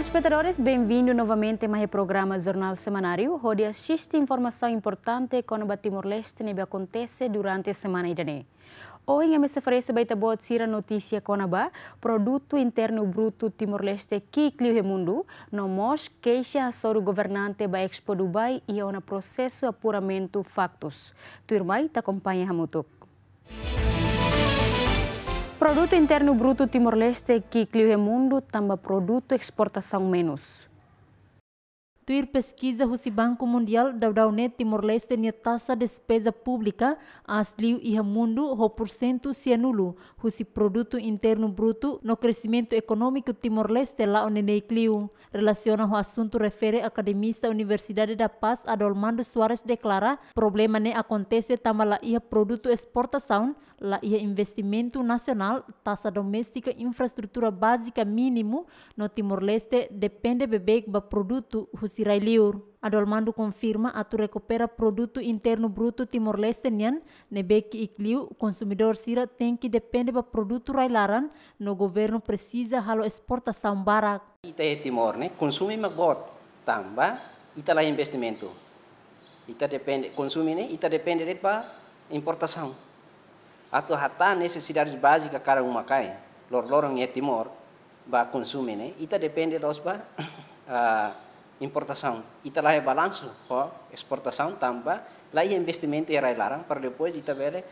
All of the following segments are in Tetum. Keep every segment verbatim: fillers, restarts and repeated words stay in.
Espetadores, benvindu novamente mai iha programa Jornál Semanáriu, hodi asiste informasaun importante kona-ba Timor-Leste ne'ebé akontese durante semana ida-ne'e. Ohin ami sei oferese ba ita-boot sira notísia kona-ba Produtu Internu Brutu Timor-Leste ki'ik liu iha mundu, no mós keixa hasoru governante ba Expo Dubai iha ona prosesu apuramentu faktus. Tuirmai ita akompaña hamutuk. Produtu Internu Brutu Timor-Leste ki'ik liu iha mundu tanba produtu esportasaun menus. Tuir peskiza husi Banku Mundiál, daudaun ne'e Timor-Leste nia taxa despeza públika aas liu iha mundu ho pursentu sianulu husi Produtu Internu Brutu, no kresimentu ekonómiku Timor-Leste la'o neineik liu. Relasiona ho asuntu refere, akademista Universidade da Paz, Adolmando Soares, deklara, problema ne'e akontese tanba la iha produtu esportasaun, la iha investimentu nasionál, taxa doméstika, infraestrutura bázika mínimu, no Timor-Leste depende beibeik ba produtu husi rai-liur. Adolmando konfirma, atu rekupera Produtu Internu Brutu Timor-Leste nian ne'ebé ki'ik liu, konsumidór sira tenke depende ba produtu rai-laran, no governu presiza halo esportasaun barak. Ita iha Timor ne'e konsume mak boot, tanba ita la investimentu. Ita depende, konsume ne'e, ita depende de'it ba importasaun. Atu hatán nesesidades bázika kada uma-kain, loroloron iha Timor, ba konsume ne'e, ita depende loos ba, ah, importasaun. Ita la iha balansu ho esportasaun tanba la iha investimentu iha rai-laran para depois ita bele,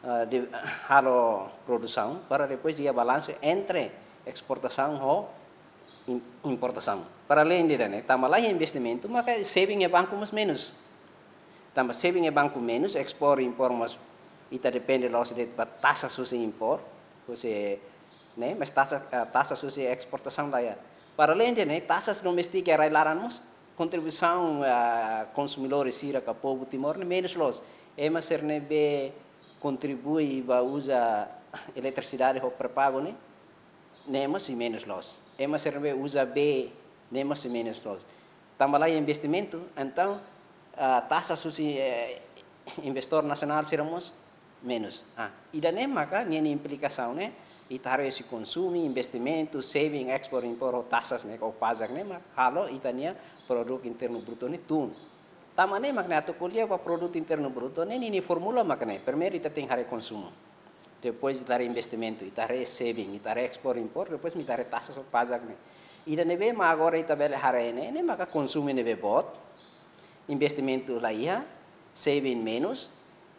ah, de, halo produsaun para depois iha balansu entre esportasaun ho im-, importasaun. Para além de ne'e, tanba la iha investimentu, maka saving iha banku mós menus. Tanba saving iha banku menus, ekspor, impor mós ita depende loos de'it ba taxa husi impor, husi, ne'e, mas taxa, ah, taxa husi esportasaun la iha. Para além de ne'e, taxa doméstika iha rai-laran mós, kontribuisaun, ah, konsumidór sira ka povu Timor ne'e menus loos. Ema sira ne'ebé kontribui ba uza eletrisidade ho pré-pagu ne'e, ne'e mós sei menus loos. Ema sira ne'ebé uza bee, ne'e mós sei menus loos. Tanba la iha investimentu, entaun, ah, taxa husi, eh, investidór nasionál sira mós menus. Ah, ida-ne'e maka ninia implikasaun ne'e, ita haree husi konsumu, investimentu, saving, ekspor, impor, ho taxas ne'e, ho pajak ne'e, mak halo ita-nia Produtu Internu Brutu ne'e tun. Tanba ne'e mak ne'e atu ko'alia ba Produtu Internu Brutu ne'e, ninia fórmula mak ne'e. Primeiru ita tenke haree konsumu. Depois ita haree investimentu, ita haree saving, ita haree ekspor, impor, depois ita haree taxas ho pajak ne'e. Ida ne'ebé mak agora ita bele haree ne'e, ne'e maka konsumu ne'ebé boot, investimentu la iha, saving menus,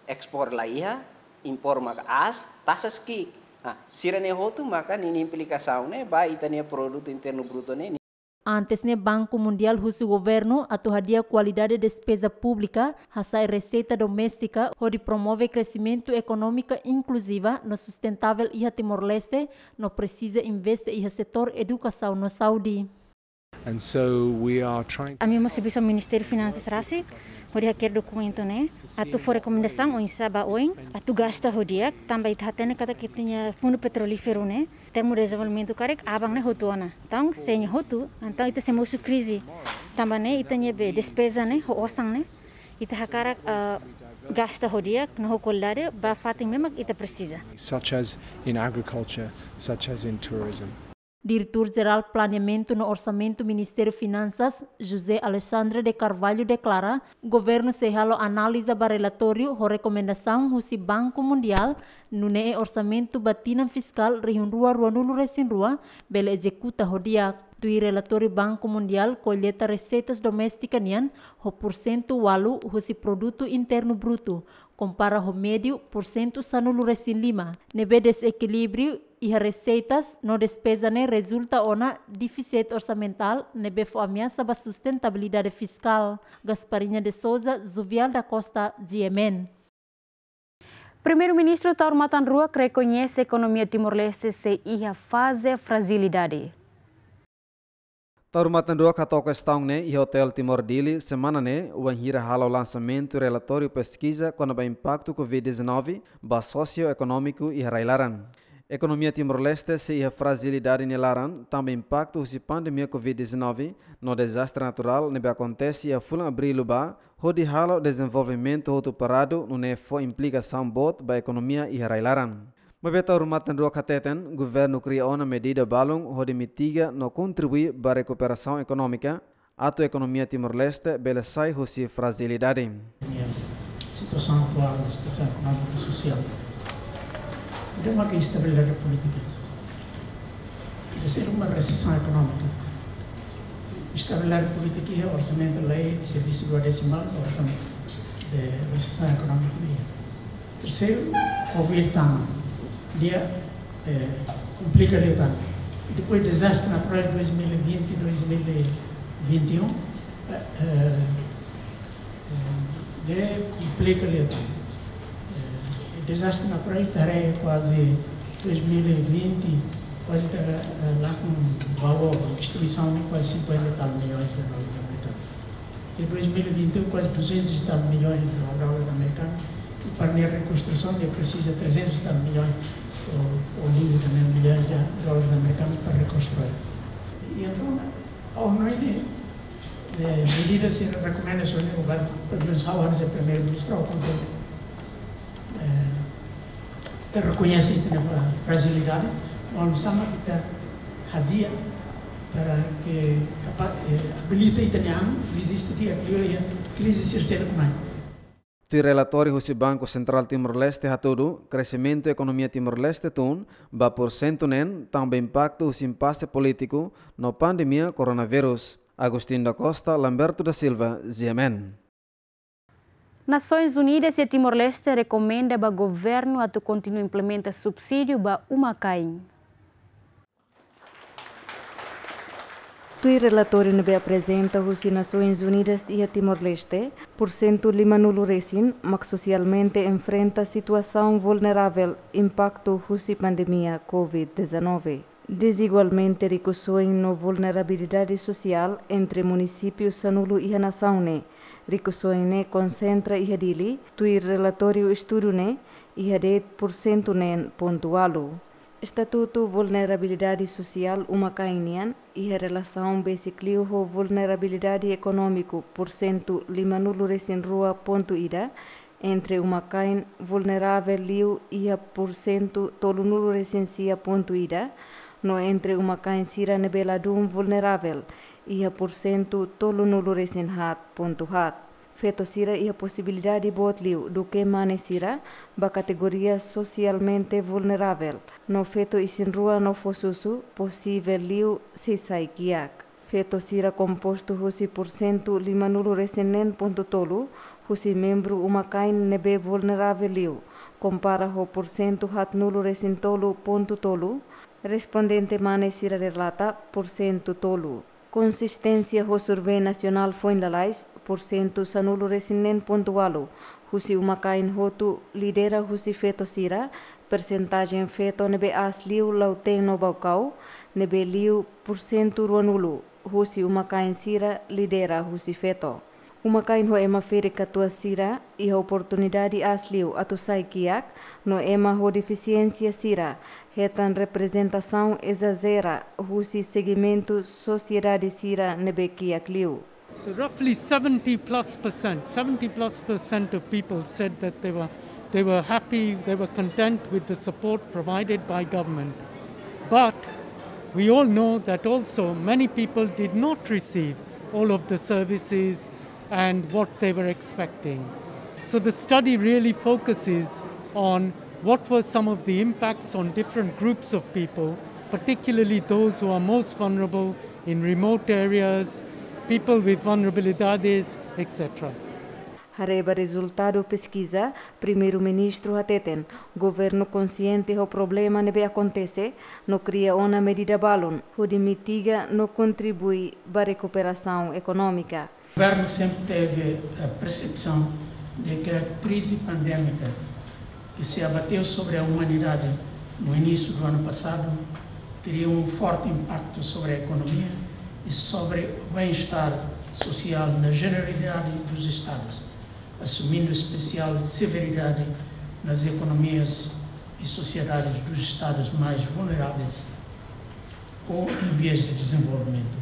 ekspor la iha, impor maka aas, taxas ki'ik. Ah, sira-ne'e hotu maka ninia implikasaun ne'e ba ita-nia Produtu Internu Brutu ne'e. Antes ne'e Banku Mundiál husu governu atu hadi'a kualidade despeza públika, hasa'e reseita doméstika, hodi promove kresimentu ekonómika inkluziva no sustentável iha Timor-Leste, no presiza investe iha setór edukasaun no saúde. And so we are trying to... Ami mós servisu Ministériu Finansas rasik, hodi hakerek dokumentu ne'e, atu fó rekomendasaun oinsá ba oin, atu gasta ho di'ak, tanba ita hatene katak ita-nia Fundu Petrolíferu ne'e, termu dezenvolvimentu karik aban ne'e hotu ona. Entaun, se nia hotu, entaun ita sei mosu krize. Tanba ne'e ita-nia be despeza ne'e, ho osan ne'e, ita hakarak, ah, gasta ho di'ak, no ho kualidade, ba fatin ne'ebé mak ita presiza. Such as in agriculture, such as in tourism. Diretór Jerál Planeamentu no Orsamentu Ministériu Finansas, José Alexandre de Carvalho, deklara, governu sei halo analiza ba relatóriu ho rekomendasaun husi Banku Mundiál, nune'e orsamentu ba tinan fiskál rihun rua ruanulu-resin-rua bele ezekuta ho di'ak. Tuir relatóriu Banku Mundiál, kolleita reseitas doméstika nian ho pursentu ualu husi Produtu Internu Brutu, kompara ho médiu pursentu sanulu-resin-lima, ne'ebé dezekilíbriu iha reseitas no despeza ne'e rezulta ona défisit orsamentál ne'ebé fó ameasa ba sustentabilidade fiskál. Gasparinha de Sousa, Juvial da Costa, G M N. Primeiru-Ministru Taur Matan Ruak rekoñese ekonomia Timor-Leste sei iha faze frajilidade. Taur Matan Ruak hato'o kestaun ne'e iha Hotel Timor Dili, semana ne'e, wainhira halo lansamentu relatóriu peskiza kona-ba impaktu Covid dezanove ba sosioekonómiku iha rai-laran. Ekonomia Timor-Leste sei iha frajilidade nia laran, tanba impaktu husi pandemia Covid dezanove, no dezastre naturál ne'ebé akontese iha fulan Abríl liubá, hodi halo dezenvolvimentu hotu paradu, nune'e fó implikasaun boot ba ekonomia iha rai-laran. Maibé Taur Matan Ruak hateten, governu kria ona medida balun hodi mitiga no kontribui ba rekuperasaun ekonómika, atu ekonomia Timor-Leste bele sai husi frajilidade. Situasaun atuál, situasaun ekonómika, sosiál, ita marka estabilidade polítika. Ita sei uma resesaun ekonómika. Estabilidade polítika iha orsamentu lei, servisu duodesimal, orsamentu de resesaun ekonómika iha. Terseiru, Covid tama. Dia, eh, komplika liután. Depois dezastre naturál dois mil e vinte, dois mil e vinte e um, eh, eh, eh, de komplika liután. Eh, dezastre naturál ita haree kuaze dois mil e vinte, kuaze ita, eh, lakon ba oin, destruisaun ne'e kuaze cinquenta e tal milhões de dólares americanos. Em dois mil e vinte e um, quase duzentos e tal milhões de dólares americanos. E para a reconstrução, ele precisa trezentos e tal milhões, ou, ou livre também, milhões de dólares americanos para reconstruir. E então, a ONU, eh, medidas e recomendações do governo, pelo menos, ao ano, primeiro-ministro, ao controle, eh, ita rekoñese ita-nia frajilidade, no oinsá mak ita hadi'a para ke kapa-, eh, abilita ita-nia an, reziste di'ak liu iha krize sira seluk mai. Tuir relatóriu husi Banku Sentrál Timor-Leste hatudu, kresimentu ekonomia Timor-Leste tun ba pursentu neen, tanba impaktu husi impase polítiku no pandemia koronavírus. Agostinho da Costa, Lamberto da Silva, G M N. Nasoins Unidas iha Timor-Leste rekomenda ba governu atu kontinua implementa subsídiu ba uma-kain. Tuir relatóriu ne'ebé aprezenta husi Nasoins Unidas iha Timor-Leste, pursentu limanulu resin mak sosialmente enfrenta situasaun vulneravel impaktu husi pandemia Covid dezanove. Dezigualmente rikusoin no vulnerabilidade sosiál entre munisípiu sanulu iha nasaun ne'e. Rikusoin ne'e konsentra iha Dili, tuir relatóriu estudu ne'e, iha de'it pursentu neen pontu ualu. Estatutu vulnerabilidade sosiál uma-kain nian, iha relasaun besik liu ho vulnerabilidade ekonómiku pursentu limanulu resin rua pontu ida, entre uma-kain vulneravel liu iha pursentu tolunulu resin sia pontu ida, no entre uma-kain sira ne'ebé ladún vulneravel iha pursentu tolunulu resin haat pontu haat. Feto sira iha posibilidade boot liu duké mane sira ba kategoria sosialmente vulneravel, no feto isin-rua no fó susu posivel liu sei sai kiak. Feto sira kompostu husi pursentu limanulu resin neen pontu tolu husi membru uma-kain ne'ebé vulneravel liu, kompara ho pursentu haatnulu resin tolu pontu tolu, respondente mane sira relata pursentu tolu. Konsisténsia ho survey nasionál foin lalais, pursentu sanulu resin neen pontu ualu husi uma-kain hotu lidera husi feto sira, persentajen feto ne'ebé aas liu Lautém no Baucau, ne'ebé liu pursentu ruanulu husi uma-kain sira lidera husi feto. Uma-kain ho ema ferik-katuas sira iha oportunidade aas liu atu sai kiak, no ema ho defisiénsia sira hetan reprezentasaun ezajera husi segimentu sosiedade sira ne'ebé kiak liu. So roughly seventy plus percent, seventy plus percent of people said that they were, they were happy, they were content with the support provided by government. But we all know that also many people did not receive all of the services and what they were expecting. So the study really focuses on what were some of the impacts on different groups of people, particularly those who are most vulnerable in remote areas, people with vulnerabilidades, et cetera. Haree ba rezultadu peskiza, Primeiru-Ministru hateten, governu konsiente ho problema ne'ebé akontese, no kria ona medida balun hodi mitiga no kontribui ba rekuperasaun ekonómika. O governo sempre teve a percepção de que a crise pandémica que se abateu sobre a humanidade no início do ano passado teria um forte impacto sobre a economia e sobre o bem-estar social na generalidade dos Estados, assumindo especial severidade nas economias e sociedades dos Estados mais vulneráveis ou em vias de desenvolvimento.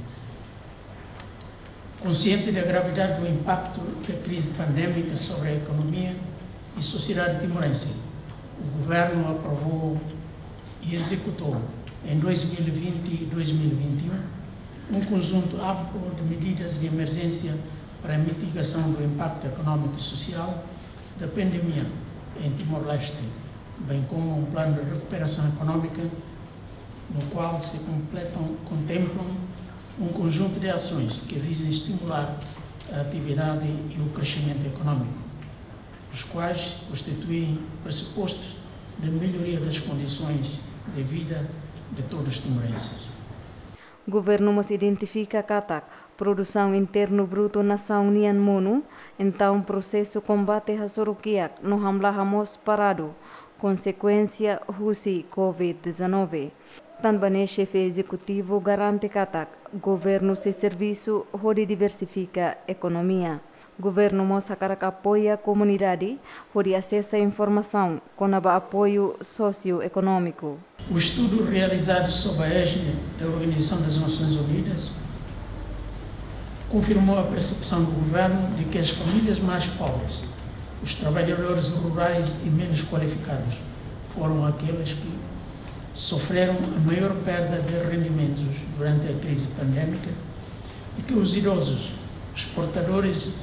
Consciente da gravidade do impacto da crise pandémica sobre a economia e sociedade timorense, O governo aprovou e executou, em dois mil e vinte e dois mil e vinte e um, um conjunto amplo de medidas de emergência para a mitigação do impacto económico e social da pandemia em Timor-Leste, bem como um plano de recuperação económica, no qual se completam, contemplam um conjunto de ações que visam estimular a atividade e o crescimento económico, os quais constituem pressupostos de melhoria das condições de vida de todos os timorenses. Governu mós identifika katak produsaun internu brutu nasaun nian monu, entaun prosesu kombate hasoru kiak no hamlaha mós paradu, konsekuénsia husi COVID dezanove. Tanba ne'e xefe ezekutivu garante katak governu sei servisu hodi diversifika ekonomia. Governu mós hakarak apoia komunidade hodi asesa informasaun kona-ba apoiu sosioekonómiku. O estudo realizado sob a égide da Organização das Nações Unidas confirmou a percepção do governo de que as famílias mais pobres, os trabalhadores rurais e menos qualificados foram aqueles que sofreram a maior perda de rendimentos durante a crise pandémica e que os idosos, os portadores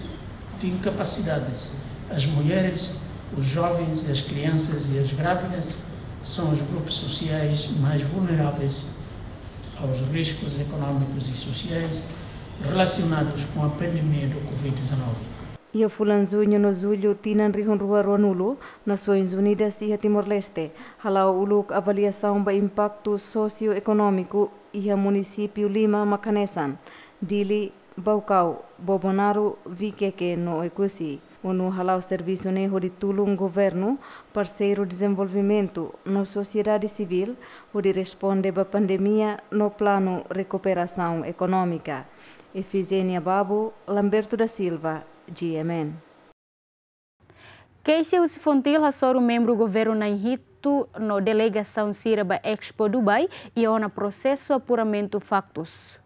de incapacidades, as mulheres, os jovens, as crianças e as grávidas são os grupos sociais mais vulneráveis aos riscos económicos e sociais relacionados com a pandemia do covid dezanove. Iha fulan Juñu no Jullu tinan rihun rua ruanulu, Nasoins Unidas iha Timor-Leste hala'o uluk avaliasaun ba impaktu sosioekonómiku iha munisípiu lima mak hanesan Dili, Baucau, Bobonaro, Viqueque no Oecusse. ONU hala'o servisu ne'e hodi tulun governu, parseiru dezenvolvimentu no sosiedade sivíl hodi responde ba pandemia no planu rekuperasaun ekonómika. Efigénia Babo, Lamberto da Silva, G M N. Keixa husi Fontil hasoru membru governu na'in hitu no delegasaun sira ba Expo Dubai iha ona prosesu apuramentu faktus.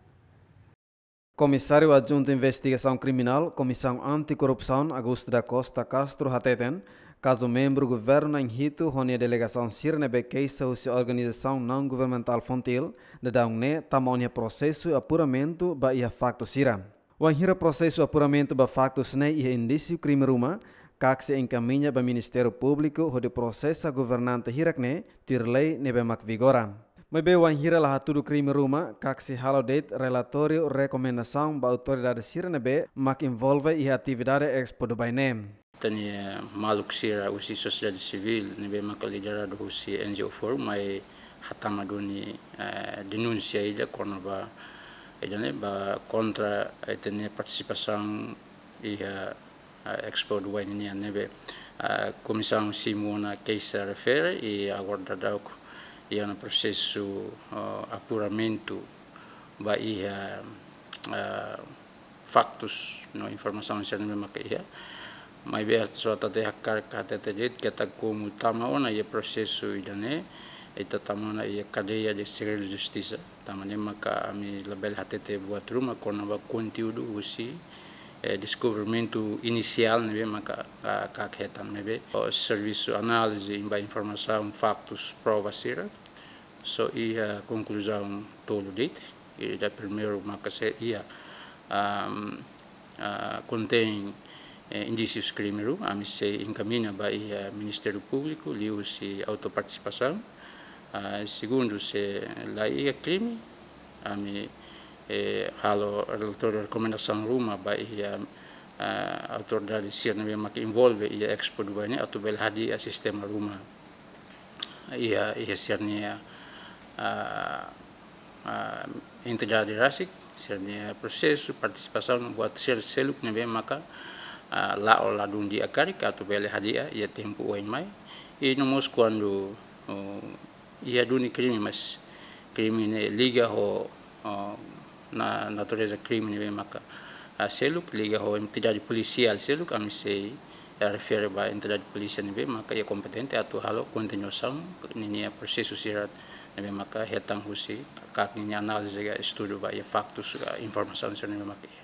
Komisáriu Adjuntu Investigasaun Kriminál, Komisaun Anti-Korrupsaun, Augusto da Costa Castro hateten, kazu membru governu na'in hitu ho nia delegasaun sira ne'ebé keixa husi organizasaun naun-governamentál Fontil, daudaun ne'e tama ona iha prosesu apuramentu ba iha faktus sira. Wainhira prosesu apuramentu ba faktus ne'e iha indísiu krime ruma, KAK sei enkamiña ba Ministériu Públiku hodi prosesa governante hirak ne'e tuir lei ne'ebé mak vigora. Maibé wainhira la hatudu krime ruma, KAK sei halo de'it relatóriu rekomendasaun ba autoridade sira ne'ebé mak envolve iha atividade Expo Dubai ne'e. Ita-nia maluk sira husi sosiedade sivíl ne'ebé maka lideradu husi N G O Forum mai hatama duni, eh, denúnsia ida kona-ba, ida-ne'e ba kontra ita-nia partisipasaun iha, eh, Expo Dubai nian ne'ebé, eh, komisaun simu ona keixa refere i agora daudauk iha ona prosesu, eh, apuramentu ba iha, eh, faktus no informasaun sira ne'ebé maka iha. Maibé só ita hakarak hatete de'it katak komu tama ona iha prosesu ida-ne'e, ita tama ona iha kadeia de segredu justisa. Tanba ne'e maka ami labele hatete buat ruma kona-ba konteúdu husi, eh, deskobrimentu inisiál ne'ebé maka, ah, KAK hetan ne'ebé. Ho servisu análize ba informasaun, faktus, prova sira. Só iha konkluzaun tolu de'it. Ida primeiru maka se iha, am, ah, kontein, eh, indísius krime ruma, ami sei enkamiña ba iha Ministériu Públiku liuhusi autopartisipasaun. Ah, segundu, se la iha krime, ami, eh, halo relatóriu rekomendasaun ruma ba iha, ah, autoridade sira ne'ebé maka envolve iha Expo Dubai ne'e atu bele hadi'a sistema ruma iha, iha sira-nia, ah, ah, entidade rasik, sira-nia prosesu, partisipasaun, buat sira seluk ne'ebé maka, ah, la'o ladún di'ak karik atu bele hadi'a iha tempu oin mai. I no mós kuandu, oh, iha duni krime, mas krime ne'e liga ho, ho na, natureza krime ne'ebé maka, ah, seluk, liga ho entidade polisiál seluk, ami sei, eh, refere ba entidade polísia ne'ebé maka iha kompetente atu halo kontinuasaun ninia prosesu sira ne'ebé maka hetan husi KAK ninia análize ka estudu ba iha faktus ka informasaun sira ne'ebé maka iha.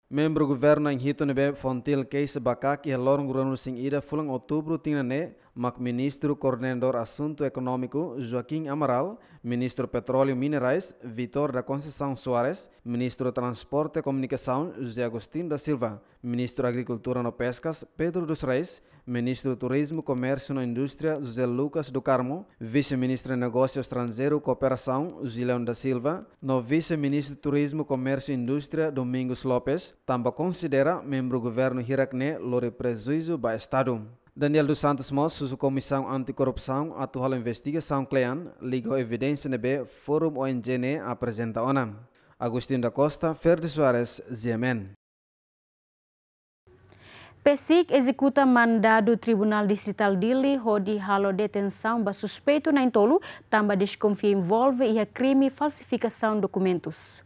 Membru governu na'in hitu ne'ebé Fontil keixa ba KAK iha loron ruanulu-resin-ida fulan Outubru tinan ne'e, mak Ministru Koordenadór Asuntu Ekonómiku Joaquim Amaral, Ministru Petróleu Minerais Vitor da Conceição Soares, Ministru Transporte Komunikasaun José Agostinho da Silva, Ministru Agrikultura no Peskas Pedro dos Reis, Ministru Turizmu, Komérsiu no Indústria José Lucas do Carmo, Vise-Ministru Negósiu Estranjeiru Kooperasaun Julião da Silva, no Vise-Ministru Turizmu, Komérsiu Indústria Domingos Lopes, tanba konsidera membru governu hirak-ne'e lori prejuízu ba Estadu. Daniel dos Santos mós husu Komisaun Antikorrupsaun atu halo investigasaun kle'an liga ho evidénsia ne'ebé Forum O N G ne'e aprezenta ona. Agostinho da Costa, Ferdi Soares, G M N. PCIC ezekuta mandadu Tribunál Distritál Dili hodi halo detensaun ba suspeitu na'in-tolu, tanba deskonfia envolve iha krime falsifikasaun dokumentus.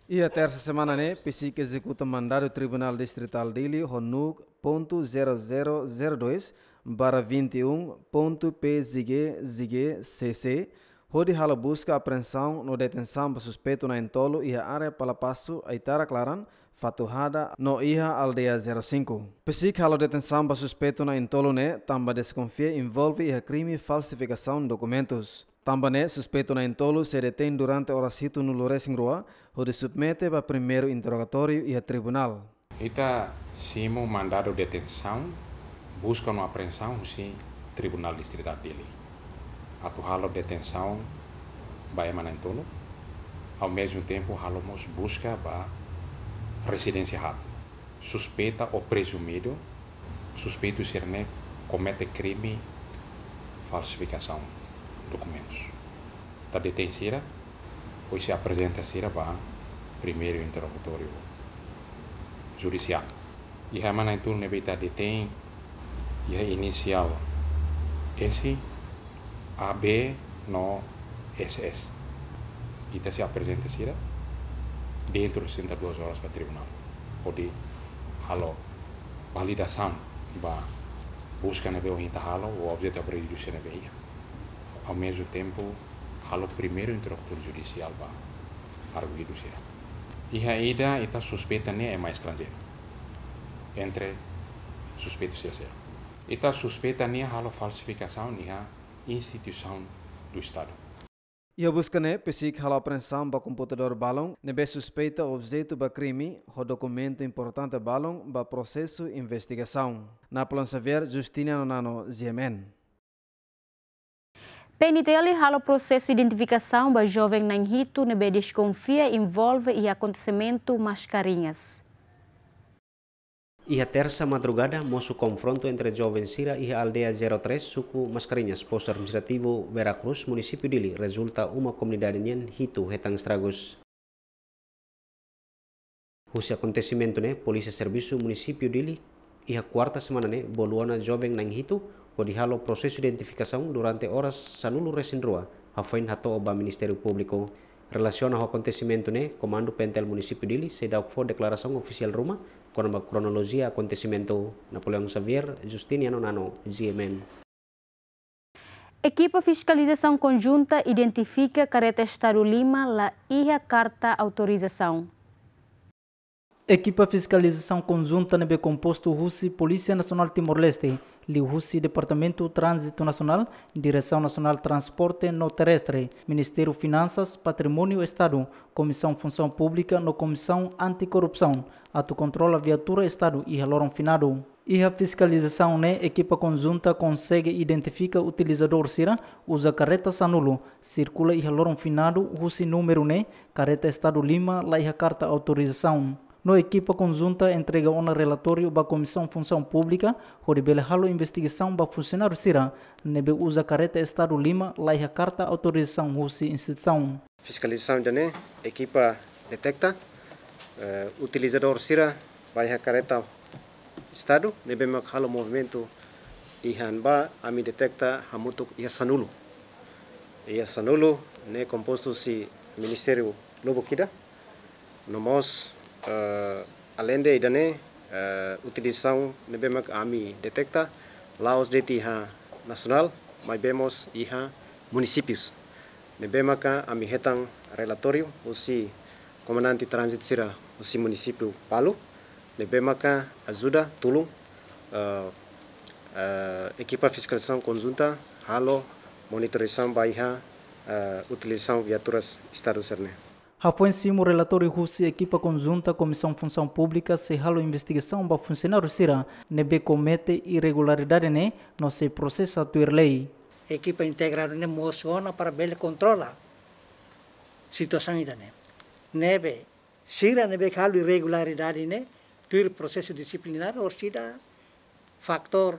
Iha tersa semana ne'e, PCIC ezekuta mandadu Tribunál Distritál Dili ho númeru ponto zero zero zero dois barra vinte e um ponto P Z G Z G C C, hodi halo buska, apreensaun no detensaun ba suspeitu na'in-tolu iha área Palapasu, Aitarak Laran, Fatuhada no iha aldeia zero cinco. PCIC halo detensaun ba suspeitu na'in-tolu ne'e tanba deskonfia envolve iha krime falsifikasaun dokumentus. Tanba ne'e, suspeitu na'in-tolu sei detein durante oras hitunulu-resin-rua, hodi submete ba primeiru interrogatóriu iha tribunál. Ita simu mandadu detensaun, buska no apreensaun husi Tribunál Distritál Dili. Atu halo detensaun ba ema na'in-tolu, ao mesmo tempo halo mós buska ba rezidénsia haat. Suspeita ou presumidu, suspeitu sira-ne'e komete krime falsifikasaun dokumentus. Ita detein sira, depois sei aprezenta sira ba primeiru interrogatóriu judisiál. Iha ema na'in-tolu ne'ebé ita detein, iha inisiál S, A B no S S. Ita sei aprezenta sira dentro de sessenta e duas horas ba tribunál, hodi halo validasaun ba buska ne'ebé ohin ita halo, ou objetu apreendidu sira ne'ebé iha. Ao mesmo tempo, halo primeiru interrogatóriu judisiál ba arguidu sira. Iha ida ita suspeita nia ema estranjeiru, entre suspeitu sira seluk. Ita suspeita nia halo falsifikasaun iha instituisaun do Estadu. Iha buska ne'e, PCIC halo apreensaun ba komputadór balun ne'ebé suspeita objetu ba krime, ho dokumentu importante balun ba prosesu investigasaun. Napoleão Xavier, Justiniano Nano, G M N. P N T L halo prosesu identifikasaun ba joven na'in-hitu ne'ebé deskonfia envolve iha akontesimentu Mascarenhas. Iha tersa madrugada, mosu konfrontu entre joven sira iha aldeia zero três, suku Mascarenhas, postu administrativu Vera Cruz, munisípiu Dili, rezulta uma komunidade nian hitu hetan estragus. Husi akontesimentu ne'e, Polísia Servisu Munisípiu Dili, iha kuarta semana ne'e, bolu ona joven na'in-hitu, hodi halo prosesu identifikasaun durante oras sanulu-resin-rua, hafoin hato'o ba Ministériu Públiku. Relasiona ho akontesimentu ne'e, Komandu P N T L Munisípiu Dili seidauk fó deklarasaun ofisiál ruma kona-ba kronolojia akontesimentu. Napoleão Xavier, Justiniano Nano, G M N. Ekipa fiskalizasaun konjunta identifika kareta Estadu lima la iha karta autorizasaun. Ekipa fiskalizasaun konjunta ne'ebé kompostu husi Polísia Nasionál Timor-Leste, liuhusi Departamentu Tránzitu Nasionál, Diresaun Nasionál Transporte no Terrestre, Ministériu Finansas, Patrimóniu Estadu, Komisaun Funsaun Públika no Komisaun Antikorrupsaun, atu kontrola viatura Estadu iha loron finadu. Iha fiskalizasaun ne'e, ekipa konjunta konsege identifika utilizadór sira uza kareta sanulu, sirkula iha loron finadu husi númeru ne'e, kareta Estadu lima la iha karta autorizasaun. No ekipa konjunta entrega ona relatóriu ba Komisaun Funsaun Públika, hodi bele halo investigasaun ba funsionáriu sira ne'ebé uza kareta Estadu lima la iha karta autorizasaun husi instituisaun. Fiskalizasaun ida-ne'e, ekipa deteta, eh, utilizadór sira ba iha kareta Estadu ne'ebé mak halo movimentu iha ne'ebá, ami deteta hamutuk iha sanulu. Iha sanulu ne'e kompostu husi ministériu lubuk ida. No mós, eh, aleinde ida-ne'e, eh, utilizasaun ne'ebé mak ami deteta la'ós de'it iha nasionál, maibé mós iha munisípius. Ne'ebé maka ami hetan relatóriu husi komandante tránzitu sira husi munisípiu balu, ne'ebé maka ajuda tulun Eh, eh, ekipa fiskalizasaun konjunta halo monitorizasaun ba iha, eh, utilizasaun viaturas Estadu sira-ne'e. Hafoin simu relatóriu husi ekipa konjunta, Komisaun Funsaun Públika sei halo investigasaun ba funsionáriu sira ne'ebé komete irregularidade ne'e no sei prosesa tuir lei. Ekipa integradu ne'e mosu ona para bele kontrola situasaun ida-ne'e. Ne'ebé sira ne'ebé halo irregularidade ne'e tuir prosesu disiplinár, orsida fatór,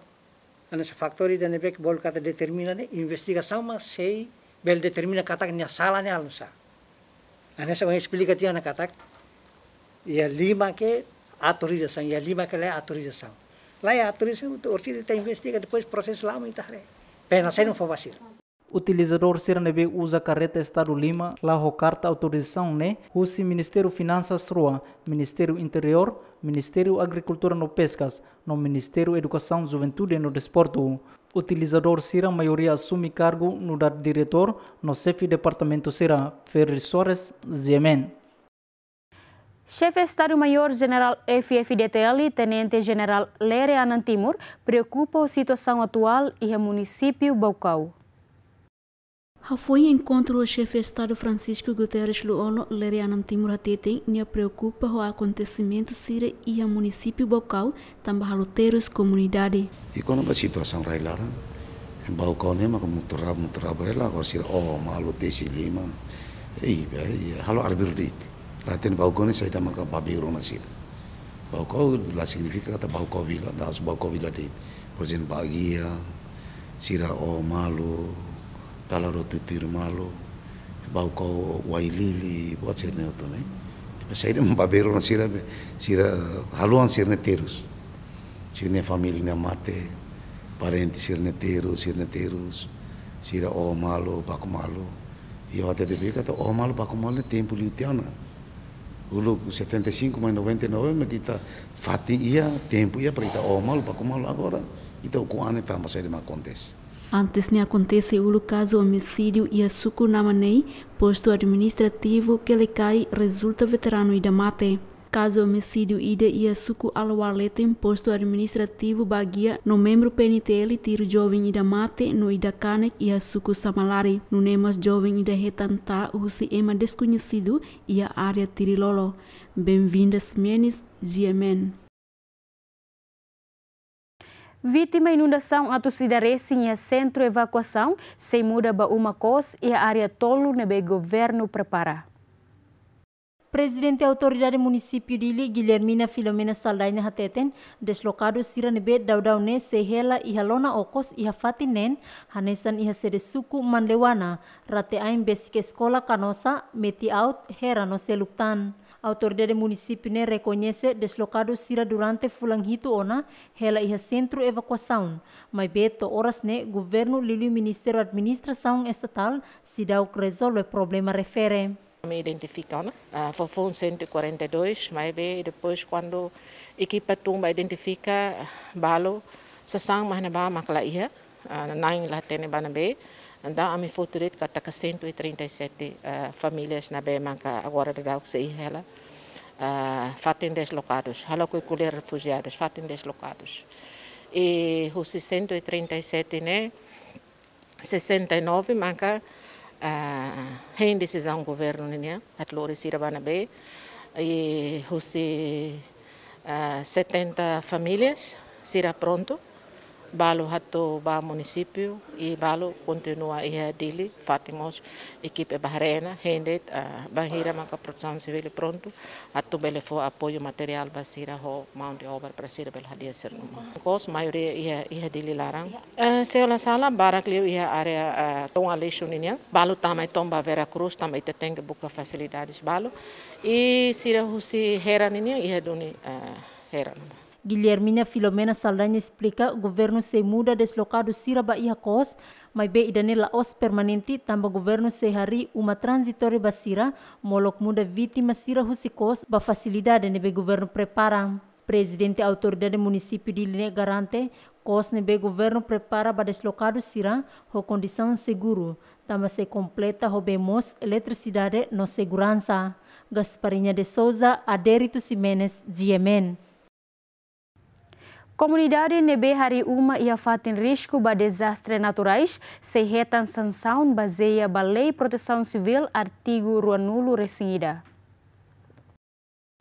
hanesan fatór ida ne'ebé bolu katak determina ne'e, investigasaun mak sei bele determina katak nia sala ne'e halo nusá. Hanesan ohin esplika tiha ona katak iha lima ke autorizasaun, iha lima ke laiha autorizasaun. Laiha autorizasaun, orsida ita investiga, depois prosesu la'o mak ita haree. Pena sai no fo basir. Utilizadór sira ne'ebé uza karreta Estadu lima la ho karta autorizasaun ne'e husi Ministériu Finansas rua, Ministériu Interiór, Ministériu Agrikultura no Peskas, no Ministériu Edukasaun, Juventude no Desportu. Utilizadór sira maioria asume kargu nu'udar diretór no xefe departamentu sira. Ferri Soares, G M N. Xefe Estadu-Maiór Jenerál F F D T L, Tenente Jenerál Lere Anan Timur, preokupa ho situasaun atuál iha munisípiu Baucau. Hafoin enkontru ho Xefe Estadu Francisco Guterres Lú-Olo, Lere Anan Timur hateten nia preokupa ho akontesimentu sira iha munisípiu Baucau, tanba halo terus komunidade. I kona-ba situasaun rai-laran, Baucau ne'e maka mutu raba, mutu raba hela, agora sira oho malu tesi lima. I, i, halo arbiru de'it. La hatene Baucau ne'e saida maka babeiru ona sira. Baucau la signifika katak Baucau vila, da'os Baucau vila de'it. Por ezemplu, Baguia, sira oho malu, dala rua tutuir malu, Baucau Uailili, buat sira-ne'e hotu ne'e. Depois saida mak babeiru ona sira, sira haluha sira-nia terus. Sira-nia família ne'e mate, parente sira-nia terus, sira-nia terus, sira oho malu, baku malu. I ha'u hatete katak oho malu, baku malu ne'e tempu liu tiha ona. Uluk setenta e cinco mais noventa e nove, mas ita fatin iha, tempu iha para ita oho malu, baku malu, agora ita ukun an ne'e tanba saida mak akontese. Antes ne'e akontese uluk kazu omisídiu iha suku Namanei, postu administrativu Quelicai, rezulta veteranu ida mate. Kazu omisídiu ida iha suku Alawar Leten, postu administrativu Baguia, no membru P N T L tiru joven ida mate no ida kanek iha suku Samalari. Nune'e mós joven ida hetan taa husi ema deskoñesidu iha área Tirilolo. Benvinda Ximenes, G M N. Vítima inundasaun atus ida resin iha sentru evakuasaun sei muda ba uma kos iha área tolu ne'ebé governu prepara. Prezidente Autoridade Munisípiu Dili, Guilhermina Filomena Saldanha hateten, deslokadu sira ne'ebé daudaun ne'e sei hela iha lona okos iha fatin neen, hanesan iha sede suku Manleuana, rate-ain besik eskola Canossa, Meti-Aut, Hera no seluk tan. Autoridade munisípiu ne'e rekoñese deslokadu sira durante fulan hitu ona hela iha sentru evakuasaun. Maibé to'o oras ne'e governu liuliu Ministériu Administrasaun Estatál seidauk rezolve problema refere. Ami identifika ona, ah, foufoun cento e quarenta e dois, maibé depois kuandu ekipa tun ba identifika, ah, balu sasán mak ne'ebá mak la iha, ah, na'in la hatene ba ne'ebé. Entaun ami foti de'it katak cento e trinta e sete, ah, famílias ne'ebé maka agora daudaun sei hela, ah, fatin deslokadus, halo ko'alia refujiadus, fatin deslokadus. I husi cento e trinta e sete ne'e, sessenta e nove maka, ah, hein desizaun governu nian, atu lori sira ba ne'ebé, i husi, ah, setenta famílias sira prontu, balu atu ba munisípiu, i balu kontinua iha Dili, fatin mós ekipa ba haree ona, hein de'it, ah, bainhira maka Protesaun Sivíl prontu, atu bele fó apoiu materiál ba sira ho mão de obra para sira bele hadi'a sira-nia uma. Kos maioria iha, iha Dili laran. Eh, se la sala barak liu iha área, eh, Tun Aleixo nian. Balu tama i to'o ba Vera Cruz, tanba ita tenke buka fasilidades balu. I sira husi Hera nian iha duni, eh, Hera. Guilhermina Filomena Saldanha esplika, governu sei muda deslokadu sira ba iha kos, maibé ida-ne'e la'ós permanente, tanba governu sei harii uma tranzitóriu ba sira, molok muda vítima sira husi kos ba fasilidade ne'ebé governu prepara. Prezidente Autoridade Munisípiu Dili ne'e garante, kos ne'ebé governu prepara ba deslokadu sira ho kondisaun seguru, tanba sei kompleta ho bee moos, eletrisidade no seguransa. Gasparinha de Souza, Adérito Ximenes, G M N. Komunidade ne'ebé harii uma iha fatin risku ba dezastre naturais sei hetan sansaun bazeia ba Lei Protesaun Sivíl, artigu ruanulu resin ida.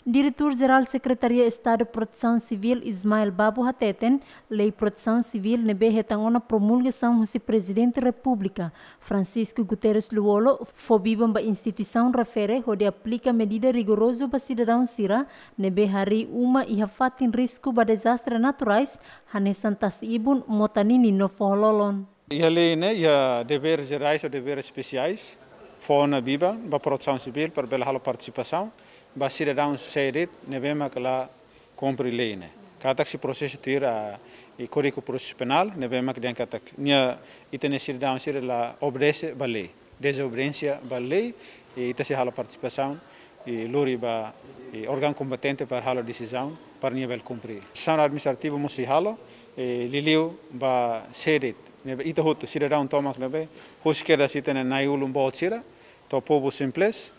Diretór Jerál Sekretaria Estadu Protesaun Sivíl, Ismael Babo, hateten, Lei Protesaun Sivíl ne'ebé hetan ona promulgasaun husi Prezidente Repúblika, Francisco Guterres Lú-Olo, fó biban ba instituisaun refere hodi aplika medida rigorozu ba sidadaun sira ne'ebé harii uma iha fatin risku ba dezastre naturais, hanesan tasi-ibun, mota-ninin no foho-lolon. Iha lei ne'e iha deveres jerais ou deveres espesiais, fó ona biban ba Protesaun Sivíl para bele halo partisipasaun ba sidadaun sé de'it ne'ebé mak la kumpre lei ne'e. Katak sei prosesa tuir, ah, i Kódigu Prosesu Penál, ne'ebé mak dehan katak nia, ita-nia sidadaun sira la obedese ba lei. Dezobediénsia ba lei, i ita sei halo partisipasaun, i lori ba, i órgaun kompetente para halo desizaun, para nia bele kumpre. Sesaun administrativa mós sei halo, i liuliu ba sé de'it ne'ebé ita hotu sidadaun tomak ne'ebé, husik kedas ita-nia na'i-ulun boot sira, to'o povu simples,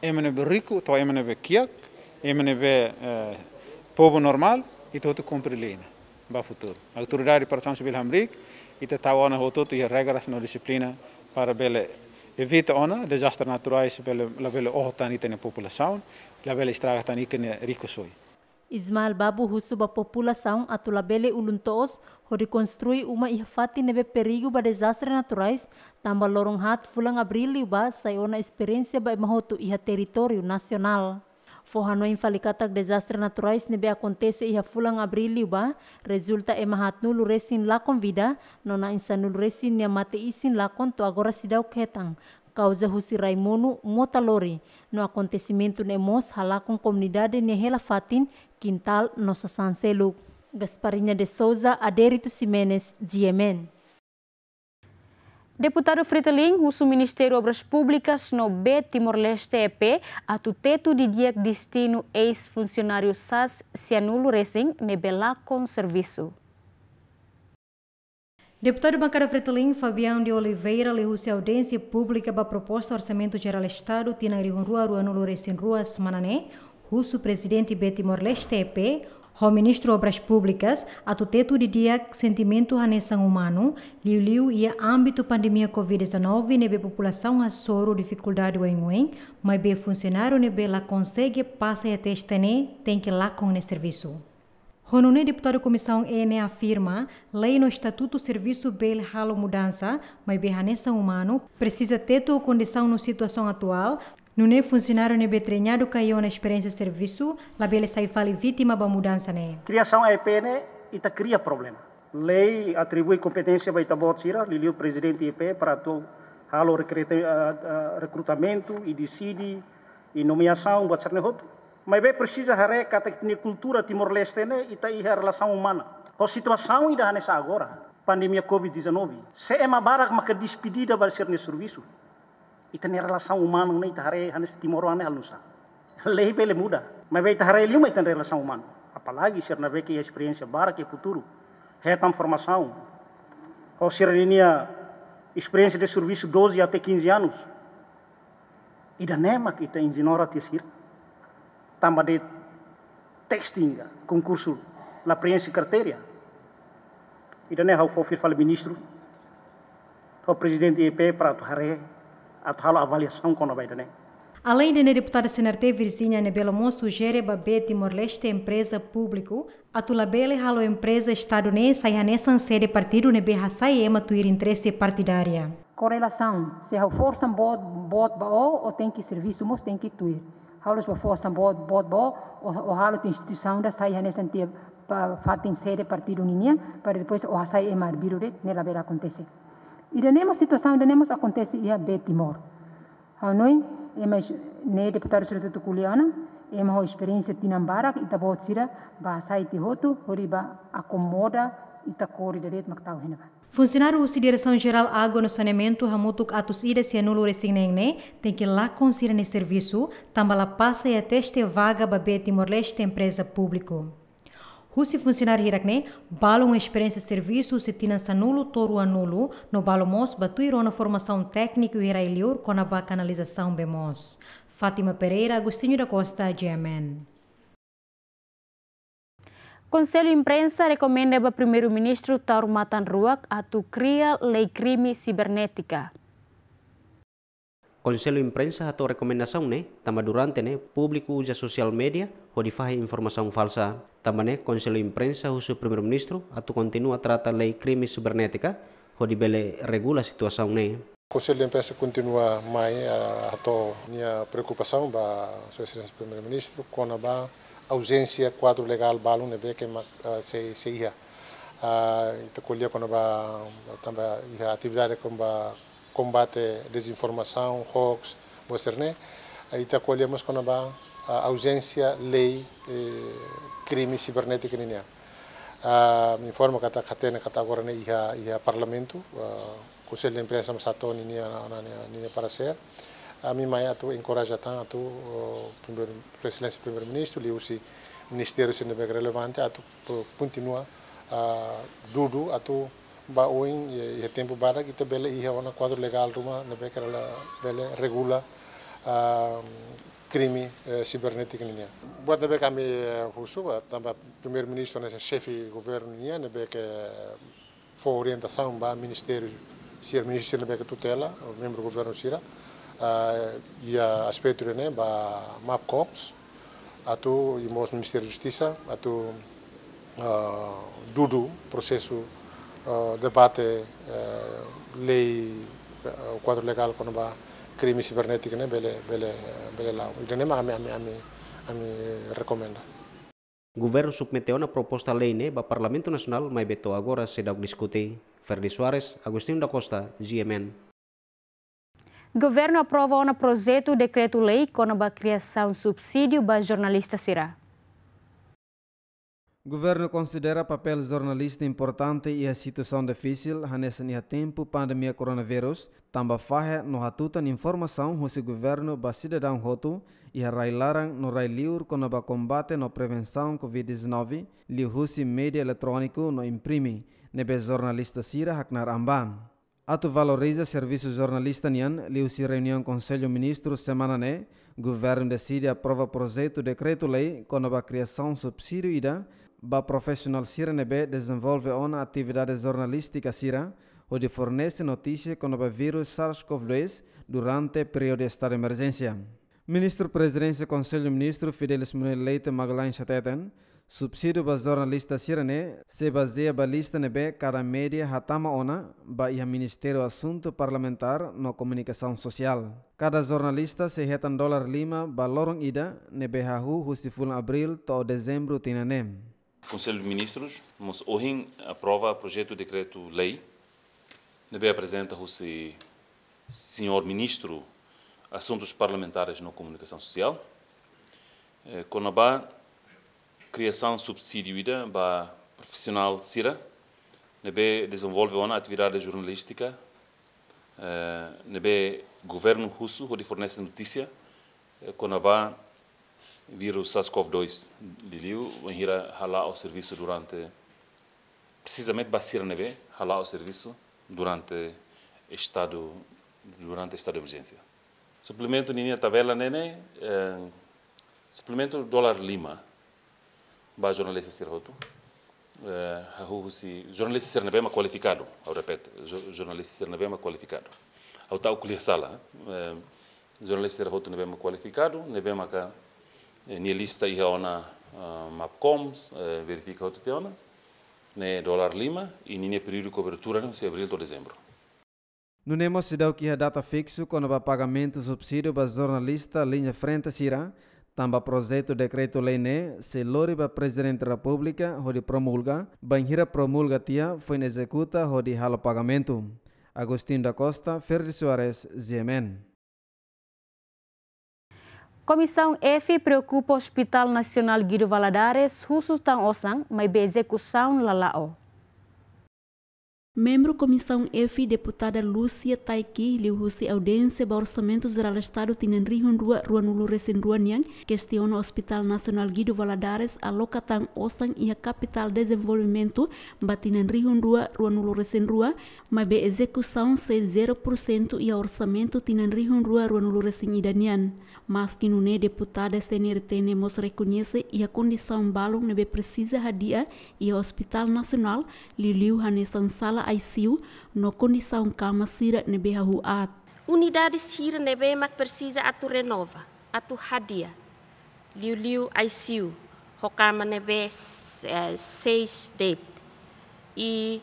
ema ne'ebé riku, to'o ema ne'ebé kiak, ema ne'ebé, eh, povu normál, ita hotu kumpre lei ne'e ba futuru. Autoridade Protesaun Sivíl hamriik, ita tau ona hotu-hotu iha regras no dixiplina para bele evita ona dezastre naturais bele, labele oho tan ita-nia populasaun, labele estraga tan ita-nia rikusoin. Ismael Babo husu ba populasaun atu labele ulun-toos hodi konstrui uma iha fatin ne'ebé perigu ba dezastre naturais, tanba loron haat fulan Abríl liubá sai ona esperiénsia ba ema hotu iha territóriu nasionál. Fó hanoin fali katak dezastre naturais ne'ebé akontese iha fulan Abríl liubá, rezulta ema haatnulu resin lakon vida, no na'in sanulu resin nia mate-isin lakon to'o agora seidauk hetan, kauza husi rai monu, mota lori, no akontesimentu ne'e mós halakon komunidade nia hela fatin, kintál no sasán seluk. Gasparinha de Souza, Adérito Ximenes, G M N. Deputadu Fretilin husu Ministériu Obras Públikas no B Timor-Leste E P atu tetu didi'ak destinu eis-funsionáriu sas sianulu resin ne'ebé lakon servisu. Deputadu Bankada Fretilin, Fabião de Oliveira, liuhusi audiénsia públika ba proposta Orsamentu Jerál Estadu tinan rihun rua ruanulu resin rua semana ne'e, husu Prezidente B Timor-Leste E P, ho Ministru Obras Públikas, atu tetu didi'ak sentimentu hanesan umanu, liuliu iha ámbitu pandemia covid dezanove ne'ebé populasaun hasoru difikuldade oioin, maibé funsionáriu ne'ebé la konsege pasa iha teste ne'e tenke lakon nia servisu. Ho nune'e deputadu Komisaun E ne'e afirma, lei no estatutu servisu bele halo mudansa, maibé hanesan umanu, presiza tetu ho kondisaun no situasaun atuál, nune'e funsionáriu ne'ebé treinadu ka iha ona esperiénsia servisu, labele sai fali vítima ba mudansa ne'e. Kriasaun E P ne'e, ita kria problema. Lei atribui kompeténsia ba ita-boot sira, liuliu Prezidente E P, para atu halo rekrute-, ah, ah, rekrutamentu, i deside, i nomeasaun, buat sira-ne'e hotu. Maibé presiza haree katak ita-nia kultura Timor-Leste ne'e, ita iha relasaun umana. Ho situasaun ida hanesan agora, pandemia covid dezanove. Se ema barak maka despedida ba sira-nia servisu, ita-nia relasaun umana ne'e ita haree hanesan timoroan ne'e halo nusá. Lei bele muda, maibé ita haree liu mai ita-nia relasaun umana. Apalagi sira ne'ebé ke iha esperiénsia barak iha futuru, hetan formasaun. Ho sira ninia esperiénsia de servisu doze até quinze anos. Ida-ne'e mak ita ignora tiha sira. Tanba de'it testing ka konkursu la preenxe kriteria. Ida-ne'e ha'u fó fila fali ministru, ho Prezidente E P para atu haree, atu halo avaliasaun kona-ba ida-ne'e. Aleinde ne'e, deputada C N R T Virginia ne'ebé mós sujere ba B Timor-Leste empreza públiku atu labele halo empreza Estadu ne'e sai hanesan sede partidu ne'ebé hasai ema tuir interese partidária. Korelasaun, se ha'u forsa boot, boot ba ó, ó tenke servisu mós tenke tuir. Ha'u la'ós bá forsa boot, boot ba ó, ó, ó halo tiha instituisaun ida sai hanesan tiha pa, fatin sede partidu ninian, para depois ó hasai ema arbiru de'it, ne'e labele akontese. Ida-ne'e mós situasaun ida-ne'e mós akontese iha B Timor. Ha'u hanoin, ema es-, ne'e deputadu sira hotu ko'alia ona, ema ho esperiénsia tinan barak, ita-boot sira bá hasai tiha hotu, hodi bá akomoda ita-nia kór ida de'it mak tau iha ne'ebá. Funsionáriu husi Diresaun Jerál Água no Saneamentu hamutuk atus ida sianulu resin neen ne'e tenke lakon sira-nia servisu, tanba la pasa iha teste vaga ba B Timor-Leste empreza públiku. Husi funsionáriu hirak-ne'e, balu ho esperiénsia servisu husi tinan sanulu to'o ruanulu, no balu mós bá tuir ona formasaun tékniku iha rai-liur kona-ba kanalizasaun bee moos. Fátima Pereira, Agostinho da Costa, G M N. Konsellu Imprensa rekomenda ba Primeiru-Ministru tau matan-ruak atu kria lei krime sibernétika. Konsellu Imprensa hato'o rekomendasaun ne'e tanba durante ne'e públiku uza sosiál média hodi fahe informasaun falsa. Tanba ne'e Konsellu Imprensa husu Primeiru-Ministru atu kontinua trata lei krime sibernétika hodi bele regula situasaun ne'e. Konsellu Imprensa kontinua mai, ah, hato'o nia preokupasaun ba Sua Exelénsia Primeiru-Ministru kona-ba auzénsia kuadru legál balun ne'ebé ke mak, ah, sei, sei iha. Ah, ita ko'alia kona-ba tanba iha atividade kona-ba kombate dezinformasaun, hoax, buat sira-ne'e. Ah, ita ko'alia mós kona-ba, ah, auzénsia lei, eh, krime sibernétika ninian. Ah, informa katak hatene katak agora ne'e iha, iha Parlamentu, ah, Konsellu Imprensa mós hato'o ninia, ninia, ninia paresér. Ami mai atu enkoraja tan atu, oh, Primeiru, Sua Exelénsia Primeiru-Ministru, liuhusi ministériu sira ne'ebé relevante atu, oh, kontinua, ah, dudu atu ba oin, iha, iha tempu badak ita bele iha ona kuadru legál ruma ne'ebé ke bele regula, ah, krime, eh, sibernétika ninian. Buat ne'ebé ke ami, eh, husu, ah, tanba Primeiru-Ministru ne'e xefe governu nian, ne'ebé ke fó orientasaun ba ministériu sira, ministru sira ne'ebé ke tutela, membru governu sira, ah, iha aspetu ne'e ba Mapcoms, atu, i mós Ministériu Justisa, atu, ah, dudu prosesu, ah, debate, eh, lei, eh, kuadru legál kona-ba krime sibernétika ne'e bele, bele, bele la'o. Ida-ne'e mak ami, ami, ami, ami rekomenda. Governu submete ona proposta lei ne'e ba Parlamentu Nasionál maibé to'o agora seidauk diskute. Ferdi Soares, Agostinho da Costa, G M N. Governu aprova ona projetu dekretu-lei kona-ba kriasaun subsídiu ba jornalista sira. Governu konsidera papél jornalista importante iha situasaun difisil, hanesan iha tempu pandemia koronavírus, tanba fahe no hatutan informasaun husi governu ba sidadaun hotu iha rai-laran no rai-liur kona-ba kombate no prevensaun covid dezanove, liuhusi média eletróniku no imprime, ne'ebé jornalista sira haknaar an ba. Atu valoriza servisu jornalista nian, liuhusi reuniaun Konsellu Ministru semana ne'e, governu deside aprova projetu dekretu-lei kona-ba kriasaun subsídiu ida ba profisionál sira ne'ebé dezenvolve ona atividade jornalístika sira, hodi fornese notísia kona-ba vírus SARS-CoV dois durante períodu estadu emerjénsia. Ministru Prezidénsia Konsellu Ministru Fidelis Manuel Leite Magalhães hateten, subsídiu ba jornalista sira-ne'e sei bazeia ba lista ne'ebé kada média hatama ona ba iha Ministériu Asuntu Parlamentár no Komunikasaun Sosiál. Kada jornalista sei hetan dolar lima ba loron ida ne'ebé hahú husi fulan Abríl to'o Dezembru tinan ne'e. Konsellu Ministrus mós ohin aprova projetu dekretu-lei ne'ebé aprezenta husi señór Ministru Asuntus Parlamentares no Komunikasaun Sosiál, eh, kona-ba kriasaun subsídiu ida ba profisionál sira ne'ebé dezenvolve ona atividade jornalístika, eh, ne'ebé governu husu hodi fornese notísia, eh, kona-ba vírus SARS-CoV dois, liuliu bainhira hala'o servisu durante, presizamente ba sira ne'ebé hala'o servisu durante estadu, durante estadu de emerjénsia. Suplementu ninia tabela ne'e, eh, suplementu dolar lima ba jornalista sira hotu. Eh, hahú husi jornalista sira ne'ebé mak kualifikadu, ha'u repete, jo-, jornalista sira ne'ebé mak kualifikadu. Ha'u ta'uk ko'alia sala, eh, jornalista sira hotu ne'ebé mak kualifikadu, ne'ebé maka, eh, nia lista iha ona, ah, Mapcoms, eh, verifika hotu tiha ona, ne'e dolar lima, i ninia períodu kobertura ne'e husi Abríl to'o Dezembru. Nune'e mós seidauk iha data fiksu kona-ba pagamentu subsídiu ba jornalista liña frente sira, tanba projetu dekretu-lei ne'e sei lori ba Prezidente Repúblika hodi promulga, bainhira promulga tiha foin ezekuta hodi halo pagamentu. Agostinho da Costa, Ferdi Soares, G M N. Komisaun F preokupa Hospital Nasionál Guido Valadares husu tan osan, maibé ezekusaun la la'o. Membru Komisaun F, Deputada Lúcia Taiki, liuhusi audiénsia ba Orsamentu Jerál Estadu tinan rihun rua ruanulu-resin-rua nian, kestiona Hospital Nasionál Guido Valadares aloka tan osan iha kapitál dezenvolvimentu ba tinan rihun rua ruanulu-resin-rua, maibé ezekusaun sei zero por cento iha orsamentu tinan rihun rua ruanulu-resin-ida nian. Maski nune'e, deputada C N R T ne'e mós rekoñese iha kondisaun balun ne'ebé presiza hadi'a iha Hospital Nasionál, liuliu hanesan sala I C U no kondisaun kama sira ne'ebé hahú aat. Unidade sira ne'ebé mak presiza atu renova, atu hadi'a, liuliu I C U, ho kama ne'ebé, eh, seis de'it. I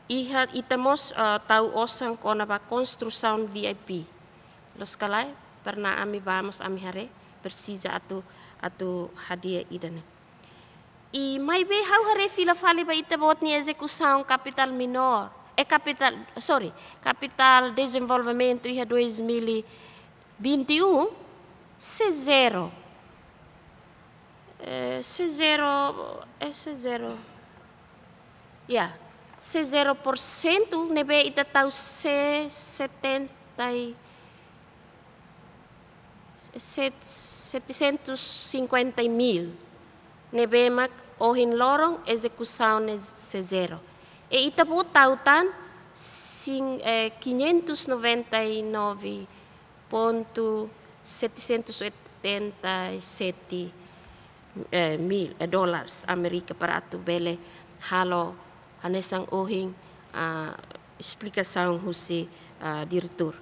iha ita mós, eh, tau osan kona-ba konstrusaun V I P. Loos ka lae, pernah ami bá mós ami haree, presiza atu, atu hadi'a ida-ne'e. I maibé ha'u haree fila fali ba ita-boot nia ezekusaun kapitál menór, eh, kapitál, sorry, kapitál dezenvolvimentu iha dois mil e vinte e um, sei zero. Eh, sei zero, eh, sei zero. Ya, sei zero por cento, ne'ebé ita tau sei setenta e, set-, setecentos e cinquenta mil. Ne'ebé mak ohin loron ezekusaun ne'e sei zero. I ita-boot tau tan sin-, eh, quinhentos noventa e nove ponto setecentos e oitenta e sete, eh, mil, eh, dólares Amérika para atu bele halo hanesan ohin, ah, esplikasaun husi, ah, diretór.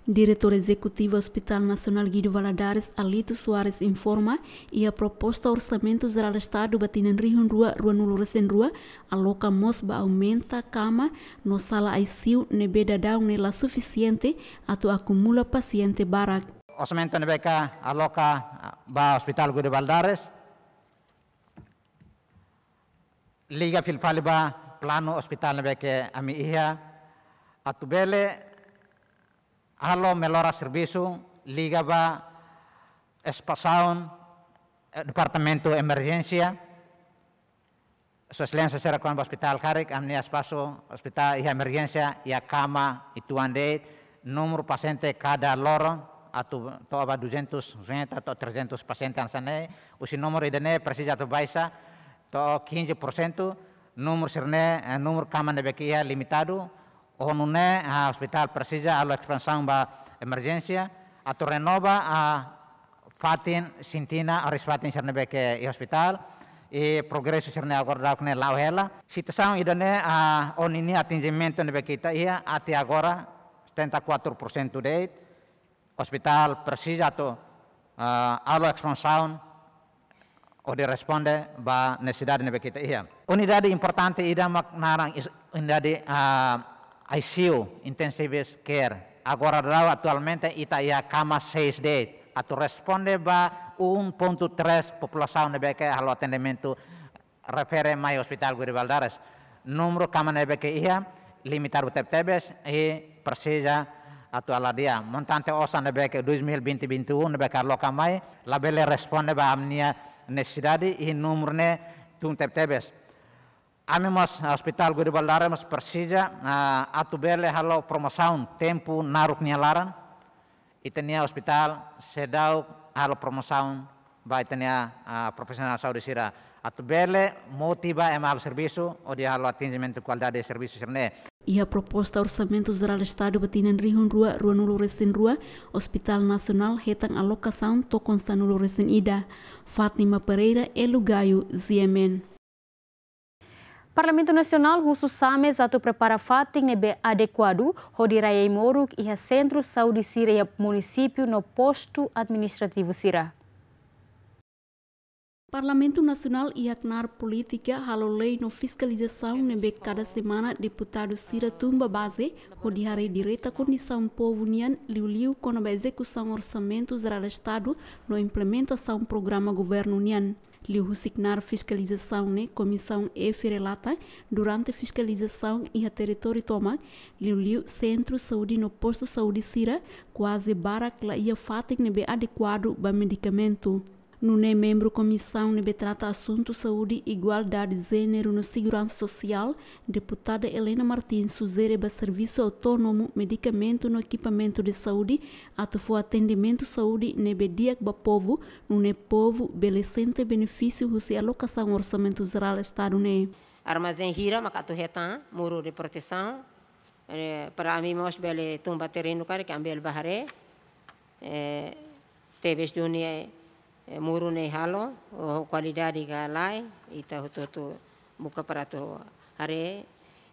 Diretór Ezekutivu Hospital Nasionál Guido Valadares, Alito Soares, informa, iha proposta Orsamentu Jerál Estadu ba tinan rihun rua ruanulu-resin-rua, aloka mós ba aumenta kama no sala I C U ne'ebé daudaun ne'e la sufisiente atu akumula pasiente barak. Orsamentu ne'ebé ke aloka, ah, ba Hospital Guido Valadares liga fila fali ba planu hospital ne'ebé ke ami iha, atu bele halo mellora servisu liga ba espasaun, eh, departamentu emerjénsia. Sua Exelénsia sira kona-ba ospitál karik, ami-nia espasu ospitál iha emerjénsia, iha kama uitoan de'it, númeru pasiente kada loron atu to'o ba duzentos cinquenta to'o trezentos pasiente hanesan ne'e, husi númeru ida-ne'e presiza atu baixa to'o quinze por cento, númeru sira-ne'e, eh, númeru kama ne'ebé ke iha limitadu, ho nune'e, ah, ospitál presiza halo espansaun ba emerjénsia, atu renova, ah, fatin, sintina, oras fatin sira ne'ebé ke iha ospitál, i progresu sira-ne'e agora daudaun ne'e la'o hela. Situasaun ida-ne'e, ah, ho ninia atinjimentu ne'ebé ke ita iha, até agora, setenta e quatro por cento de'it, ospitál presiza atu, ah, halo espansaun hodi responde ba nesesidade ne'ebé ke ita iha. Unidade importante ida mak naran is-, unidade, ah, I C U, Intensive Care. Agora daudaun atualmente ita iha kama seis de'it. Atu responde ba um ponto três populasaun ne'ebé ke halo atendimentu refere mai Hospital Guido Valadares. Númeru kama ne'ebé ke iha limitadu tebetebes i presiza atu hadi'a. Montante osan ne'ebé ke dois mil e vinte, vinte e um ne'ebé ke aloka mai, labele responde ba ami-nia nesesidade i númeru ne'e tun tebetebes. Ami mós, Hospital Guido Valadares mós presiza, ah, atu bele halo promosaun tempu naruk nia laran. Ita-nia ospitál seidauk halo promosaun ba ita-nia, ah, profisionál saúde sira atu bele motiva ema halo servisu hodi halo atinjimentu kualidade servisu sira-ne'e. Iha proposta Orsamentu Jerál Estadu ba tinan rihun rua ruanulu-resin-rua, Hospital Nasionál hetan alokasaun tokon sanulu-resin-ida. Fátima Pereira, Elu Gayo, G M N. Parlamentu Nasionál husu SAMES atu prepara fatin ne'ebé adekuadu hodi rai ai-moruk iha sentru saúde sira iha munisípiu no postu administrativu sira. Parlamentu Nasionál iha knaar polítika halo lei no fiskalizasaun ne'ebé kada semana deputadu sira tun ba baze hodi haree direta kondisaun povu nian, liuliu kona-ba ezekusaun Orsamentu Jerál Estadu no implementasaun programa governu nian. Liuhusi knaar fiskalizasaun ne'e, Komisaun F relata, durante fiskalizasaun iha territóriu tomak, liuliu sentru saúde no postu saúde sira, kuaze barak la iha fatin ne'ebé adekuadu ba medikamentu. Nune'e membru Komisaun ne'ebé trata asuntu saúde, igualdade jéneru no seguransa sosiál, Deputada Helena Martins sujere ba servisu autónomu, medikamentu no ekipamentu de saúde atu fó atendimentu saúde ne'ebé di'ak ba povu, nune'e povu bele sente benefísiu husi alokasaun Orsamentu Jerál Estadu ne'e. Armazén hira maka atu hetan muru de protesaun, eh, para ami mós bele tun ba terrenu karik ami bele bá haree, eh, tebes duni, eh, muru ne'e halo, ho kualidade ka lae, ita hotu-hotu buka para atu haree.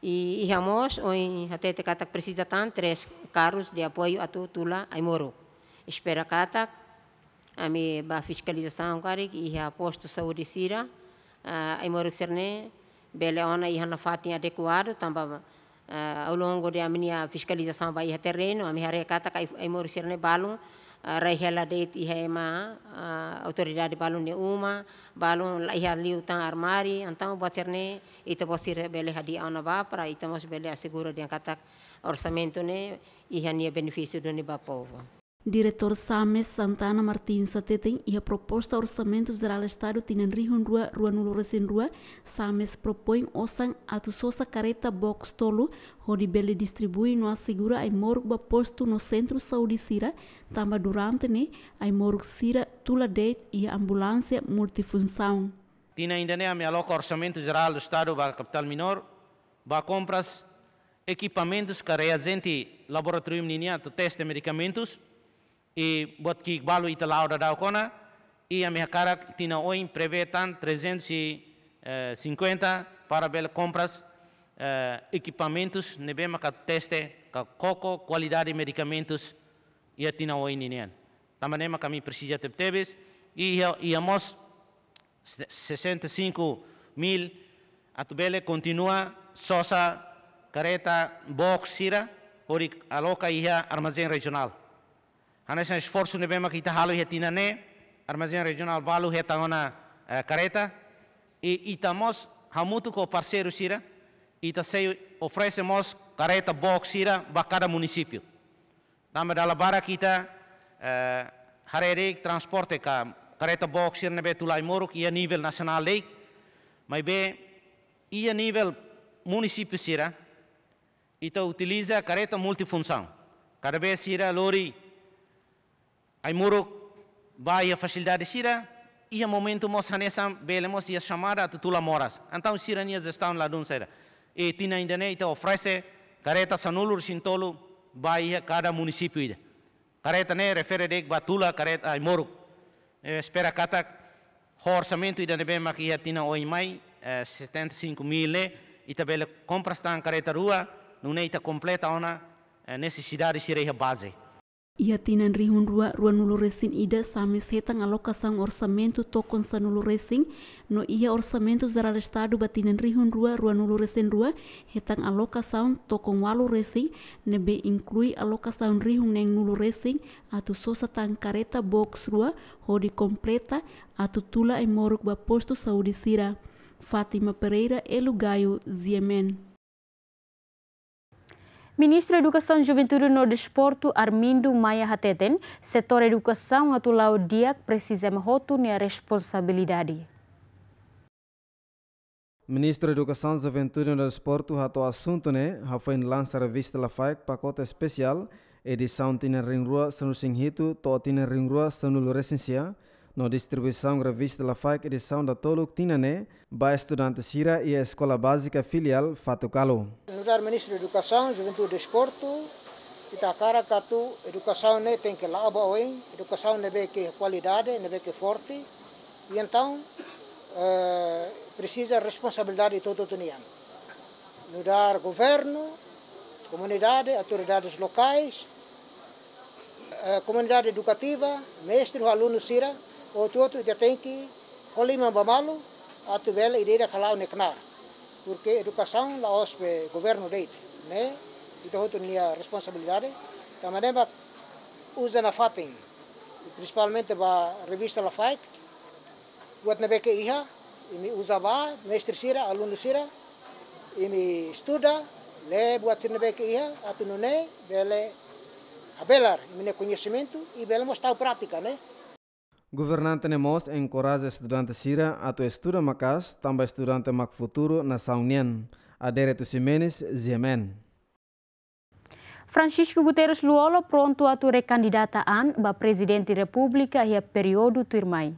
I, iha mós ohin hatete katak presiza tan três carros de apoio atu tula ai-moruk. Espera katak ami bá fiskalizasaun karik iha postu saúde sira, ah, ai-moruk sira-ne'e bele ona iha ona fatin adekuadu, tanba, ah, ao longo de ami-nia fiskalizasaun ba iha terrenu, ami haree katak ai, ai-moruk sira-ne'e balun, ah, rai hela de'it iha ema, ah, autoridade balun nia uma, balun la iha liután armáriu, entaun buat sira-ne'e ita-boot sira bele hadi'a ona bá para ita mós bele asegura dehan katak orsamentu ne'e iha nia benefísiu duni ba povu. Diretór SAMES Santana Martins hateten iha proposta Orsamentu Jerál Estadu tinan rihun rua ruanulu-resin-rua, SAMES propoin osan atu sosa kareta box tolu, hodi bele distribui no asegura ai-moruk ba postu no sentru saúde sira, tanba durante ne'e ai-moruk sira tula de'it iha ambulánsia multifunsaun. Tinan ida-ne'e ami aloka Orsamentu Jerál do Estadu ba Kapitál Minór, ba kompras ekipamentus ka reajente laboratóriu ninian atu teste medikamentus, i buat ki'ik balu ita la'o daudaun ona, i ami hakarak tinan oin prevee tan trezentos e cinquenta para bele kompras, eh, ekipamentus ne'ebé maka teste ka koko kualidade medikamentus iha tinan oin ninian. Tanba ne'e maka ami presiza tebetebes, i iha, iha mós se-, sessenta e cinco mil atu bele kontinua sosa kareta box sira hodi aloka iha armazén rejionál. Hanesan esforsu ne'ebé maka ita halo iha tinan ne'e, armazén rejionál balu hetan ona, eh, kareta, i ita mós hamutuk ho parseiru sira, ita sei oferese mós kareta box sira ba kada munisípiu. Tanba dala barak ita, eh, haree de'it transporte ka kareta box sira ne'ebé tula ai-moruk iha nivel nasionál de'it, maibé iha nivel munisípiu sira, ita utiliza kareta multifunsaun. Kada vez sira lori ai-moruk ba iha fasilidade sira, iha momentu mós hanesan bele mós iha xamada atu tula moras. Entaun sira-nia jestaun ladún saida. I tinan ida-ne'e ita oferese kareta sanulu-resin-tolu ba iha kada munisípiu ida. Kareta ne'e refere de'it ba tula kareta ai-moruk. Eh, espera katak ho orsamentu ida ne'ebé mak iha tinan oin mai, eh, setenta e cinco mil ne'e, ita bele kompras tan kareta rua, nune'e ita kompleta ona, eh, nesesidade sira iha baze. Iha tinan rihun rua ruanulu-resin-ida, SAMES hetan alokasaun orsamentu tokon sanulu-resin, no iha Orsamentu Jerál Estadu ba tinan rihun rua ruanulu-resin-rua hetan alokasaun tokon ualu-resin, ne'ebé inklui alokasaun rihun neenulu-resin atu sosa tan kareta box rua hodi kompleta atu tula ai-moruk ba postu saúde sira. Fátima Pereira, Elu Gayo, G M N. Ministru Edukasaun, Juventude no Desportu, Armindo Maia hateten, setór edukasaun atu la'o di'ak presiza ema hotu nia responsabilidade. Ministru Edukasaun, Juventude no Desportu hato'o asuntu ne'e hafoin lansa revista Lafaek pakote espesiál, edisaun tinan rihun rua sanulu-resin-hitu to'o tinan rihun rua sanulu-resin-sia, no distribuisaun revista Lafaek edisaun datoluk tinan ne'e ba estudante sira iha Eskola Bázika Filiál Fatukalu. Nu'udar Ministru Edukasaun, Juventude, Desportu, ita hakarak atu edukasaun ne'e tenke la'o ba oin, edukasaun ne'ebé ke kualidade, ne'ebé ke forte, i entaun, eh, presiza responsabilidade ita hotu-hotu nian. Nu'udar governu, komunidade, autoridades lokais, eh, komunidade edukativa, mestre ho alunu sira, hotu-hotu ita tenke ho liman ba malu, atu bele ida-idak hala'o nia knaar. Porke edukasaun la'ós be governu de'it, ne'e ita hotu nia responsabilidade. Tanba ne'e mak uza nafatin, prinsipalmente ba revista Lafaek, buat ne'ebé ke iha, imi uza bá, mestre sira, alunu sira, imi estuda, lee buat sira ne'ebé ke iha, atu nune'e bele habelar imi-nia koñesimentu, i bele mós tau prátika, ne'e. Governante ne'e mós enkoraja estudante sira atu estuda maka'as, tanba estudante mak futuru nasaun nian. Adérito Ximenes, G M N. Francisco Guterres Lú-Olo prontu atu rekandidata an ba Prezidente Repúblika iha períodu tuirmai.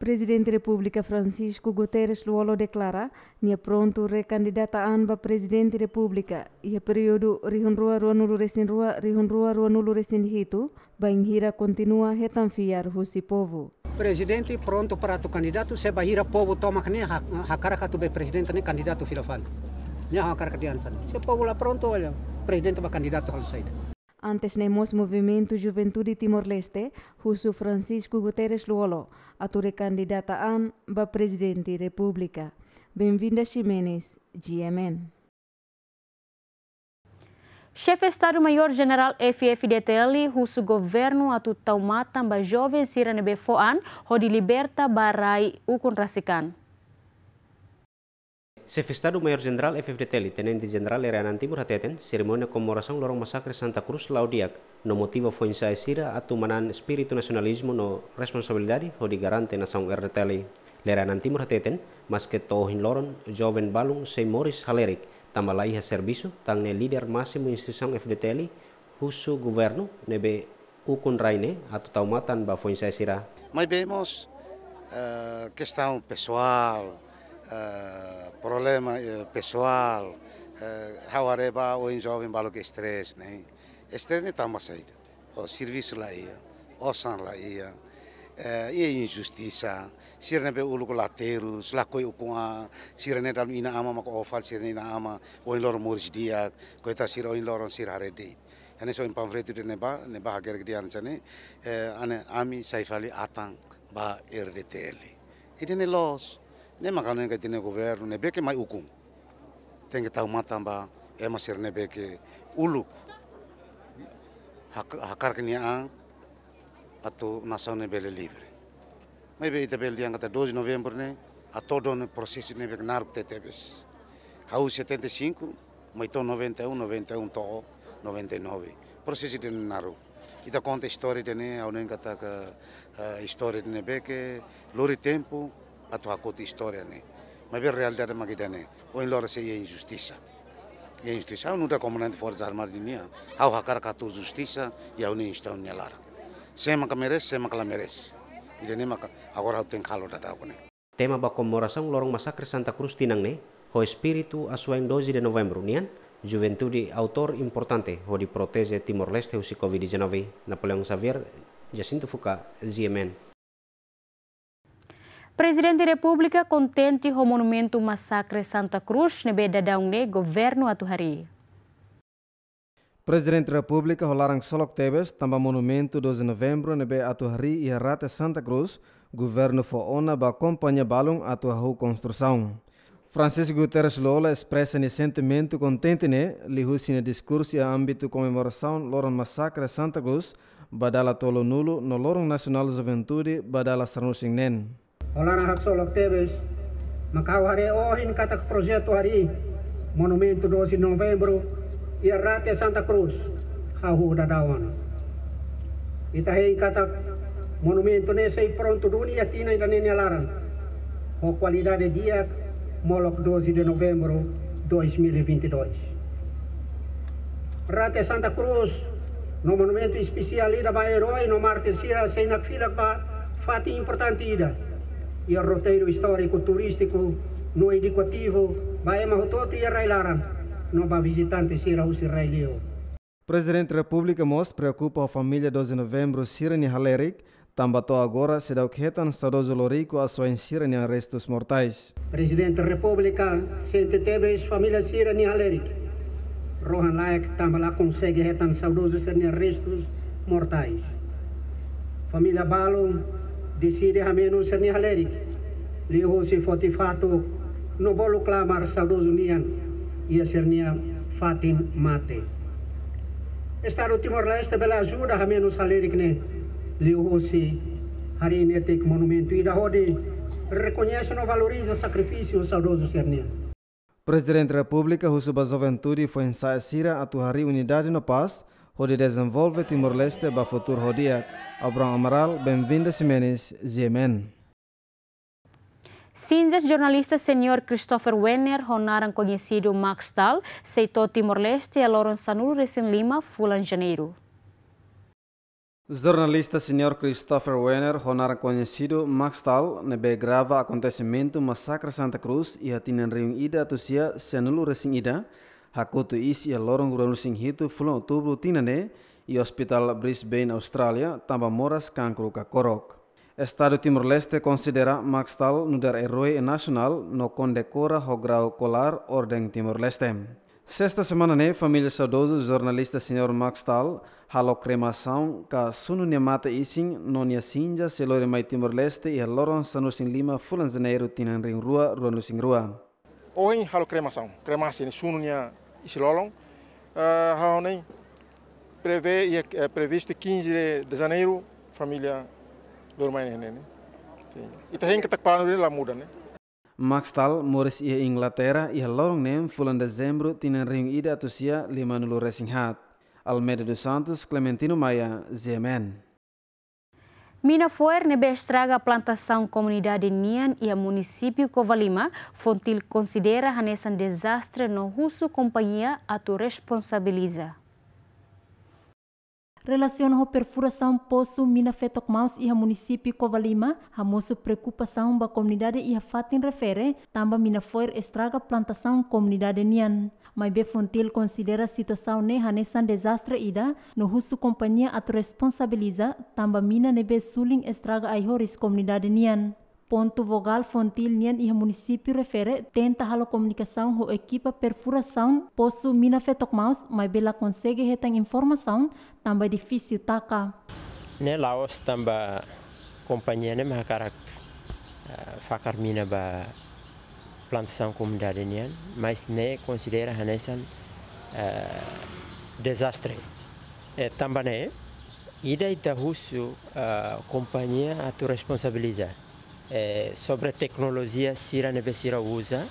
Prezidente Repúblika Francisco Guterres Lú-Olo deklara nia prontu rekandidata an ba Prezidente Repúblika iha períodu rihun rua ruanulu resin rua, rihun rua ruanulu resin hitu, bainhira kontinua hetan fiar husi povu. Prezidente prontu para atu kandidatu, se bainhira povu tomak ne'e ha-, hakarak atu be prezidente ne'e kandidatu fila fali. Ne'e hakarak dehan hanesan ne'e. Se povu la prontu, olha, prezidente bá kandidatu halo saida. Antes ne'e mós Movimentu Juventude Timor-Leste husu Francisco Guterres Lú-Olo atu rekandidata an ba Prezidente Repúblika. Benvinda Ximenes, G M N. Xefe Estadu Maiór Jenerál F-FDTL husu governu atu tau matan ba joven sira ne'ebé fó an hodi liberta ba rai ukun rasik an. Xefe Estadu Maiór Jenerál F-FDTL, Tenente Jenerál Lere Anan Timur hateten, serimónia komemorasaun loron masakre Santa Cruz la'o di'ak, no motiva foin-sa'e sira atu manán espíritu nasionalizmu no responsabilidade hodi garante nasaun R D T L. Lere Anan Timur hateten, maske to'o ohin loron joven balun sei moris halerik tanba la iha servisu, tan ne'e líder másimu instituisaun F-FDTL husu governu ne'ebé ukun rai ne'e atu tau matan ba foin-sa'e sira. Maibé mós, eh, kestaun pesoál, eh, problema, eh, pesoál, eh, ha'u haree ba ohin joven balu ke estrés ne'e. Estrés ne'e tanba saida? Ó servisu la iha, osan la iha, eh, iha injustisa, sira ne'ebé uluk la terus, lakohi ukun-an, sira ne'e dala ruma inan-aman mak ó fali, sira ne'e inan-aman, ohin loron moris di'ak, koitadu sira ohin loron sira haree de'it. Hanesan ohin panfletu ida-ne'ebá, ne'ebá hakerek dehan hanesan ne'e, eh, ane ami sai fali atan ba R D T L. Ida-ne'e loos, ne'e mak ha'u hanoin katak ita-nia governu ne'ebé ke mai ukun tenke tau matan ba ema sira ne'ebé ke uluk hak-, hakarak nia an atu nasaun ne'e bele livre. Maibé ita bele dehan katak doze de novembro ne'e, ha'u hanoin prosesu ne'ebé ke naruk tebetebes. Hahú setenta e cinco, mai to'o noventa e um, noventa e um to'o noventa e nove. Prosesu ida-ne'e naruk. Ita konta istória ida-ne'e, ha'u hanoin katak, eh, istória ida-ne'ebé ke lori tempu atu hakotu istória ne'e. Maibé realidade mak ida-ne'e. Ohin loron sei iha injustisa. Iha injustisa, ha'u nu'udar komandante Forsas Armadas nian, ha'u hakarak atu justisa iha ha'u-nia instituisaun nia laran. Sé maka merese, sé maka la merese. Ida-ne'e maka agora ha'u tenke halo daudaun ne'e. Tema ba komemorasaun loron masakre Santa Cruz tinan ne'e, ho espíritu asuwa'in doze de novembro nian, juventude autór importante hodi proteje Timor-Leste husi covid dezanove. Napoleão Xavier, Jacinto Fuca, G M N. Prezidente Repúblika kontente ho monumentu masakre Santa Cruz ne'ebé daudaun ne'e governu atu harii. Prezidente Repúblika ho laran ksolok tebes tanba monumentu doze novembro ne'ebé atu harii iha rate Santa Cruz, governu fó ona ba kompañia balun atu hahú konstrusaun. Francisco Guterres Lú-Olo espresa nia sentimentu kontente ne'e liuhusi nia diskursu iha ámbitu komemorasaun loron masakre Santa Cruz ba dala tolunulu no loron nasionál juventude ba dala sanulu-resin-neen. Ho laran haksolok tebes, mak ha'u haree ohin katak projetu harii monumentu doze novembro iha rate Santa Cruz, hahú daudaun ona. Ita hein katak monumentu ne'e sei prontu duni iha tinan ida-ne'e nia laran, ho kualidade di'ak molok doze de novembro dois mil e vinte e dois. Rate Santa Cruz no monumentu espesiál ida ba erói no mártir sira sei nakfilak ba fatin importante ida iha roteiru istóriku, turístiku no edukativu ba ema hotu-hotu iha rai-laran no ba vizitante sira husi rai-li'ur. Prezidente Repúblika mós preokupa ho família doze novembro sira-nia halerik, tanba to'o agora seidauk hetan saudozu loriku asuwa'in sira-nia restus mortais. Prezidente Repúblika sente tebes família sira-nia halerik. Rohan-laek tanba la konsege hetan saudozu sira-nia restus mortais. Família balun deside hamenu sira-nia halerik liuhusi foti fatuk no bolu klamar saudozu nian iha sira-nia fatin mate. Estadu Timor-Leste bele ajuda hamenus halerik ne'e liuhusi harii netik monumentu ida hodi rekoñese no valoriza sakrifísiu saudozu sira-nian. Prezidente Repúblika husu ba juventude foin-sa'e sira atu harii unidade no pás, hodi dezenvolve Timor-Leste ba futuru ho di'ak. Abraham Amaral, Benvinda Ximenes, G M N. Sinjas jornalista senior Christopher Wenner, ho naran koñesidu Max Stahl, sei to'o Timor-Leste iha loron sanulu-resin-lima fulan Janeiru. Jornalista senior Christopher Wenner, ho naran koñesidu Max Stahl, ne'ebé grava akontesimentu Masakre Santa Cruz iha tinan rihun ida atus sia sianulu-resin-ida, hakotu iis iha loron ruanulu-resin-hitu fulan Outubru tinan ne'e, iha Ospitál Brisbane, Austrália, tanba moras kankru kakorok. Estadu Timor-Leste konsidera Max Stahl nu'udar erói nasionál no kondekora ho grau kolar Orden Timor-Leste. Sesta semana ne'e, família saudozu jornalista senior Max Stahl halo kremasaun ka sunu nia matan-isin no nia sinja sei lori mai Timor-Leste iha loron sanulu-resin-lima fulan Janeiru tinan rihun rua ruanulu-resin-rua. Ohin halo kremasaun, kremasi ne'e sunu nia isin-lolon. Eh, ha'u hanoin prevee iha, eh, previstu quinze de, de Janeiro, família lori mai ne'e, ne'e. Sin. Ita hein katak planu ne'e la muda, ne'e. Max Stahl moris iha Inglaterra iha loron neen fulan Dezembru tinan rihun ida atus sia limanulu-resin-haat. Almeida dos Santos, Clementino Maia, G M N. Mina foer ne'ebé estraga plantasaun komunidade nian iha munisípiu Covalima, Fontil konsidera hanesan dezastre no husu kompañia atu responsabiliza. Relasiona ho perfurasaun posu mina fetok maus iha munisípiu Covalima, hamosu preokupasaun ba komunidade iha fatin refere, tanba mina foer estraga plantasaun komunidade nian. Maibé Fontil konsidera situasaun ne'e hanesan dezastre ida, no husu kompañia atu responsabiliza, tanba mina ne'ebé sulin estraga ai-horis komunidade nian. Pontu vogál Fontil nian iha munisípiu refere tenta halo komunikasaun ho ekipa perfurasaun posu mina fetok maus, maibé la konsege hetan informasaun, tanba difisil taka. Ne'e la'ós tanba kompañia ne'e mak hakarak, eh, fakar mina ba plantasaun komunidade nian, mas ne'e konsidera hanesan, eh, dezastre. Eh, tanba ne'e, ida ita husu, eh, kompañia atu responsabiliza, eh, sobre teknolojia sira ne'ebé sira uza,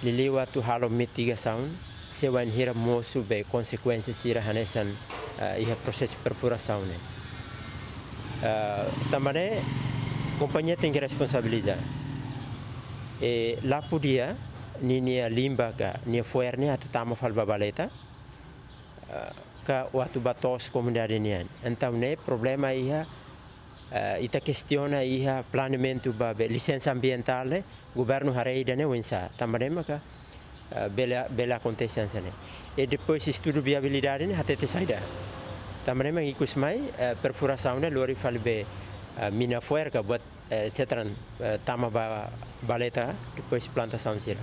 liuliu atu halo mitigasaun, se wainhira mosu be konsekuénsia sira hanesan, eh, iha prosesu perfurasaun ne'e. Eh, tanba ne'e, kompañia tenke responsabiliza. Eh, la podia, ninia limba ka, nia foer ne'e atu tama fali ba valeta, eh, ka atu ba to'os komunidade nian. Entaun ne'e problema iha, eh, ita kestiona iha planeamentu ba be lisensa ambientál ne'e, governu haree ida-ne'e oinsá. Tanba ne'e maka, eh, bele, bele akontese hanesan ne'e. I depois estudu viabilidade ne'e hatete saida. Tanba ne'e mak ikus mai, eh, perfurasaun ne'e lori fali be, eh, mina foer ka buat, eh, et cetera, eh, tama ba valeta, depois plantasaun sira.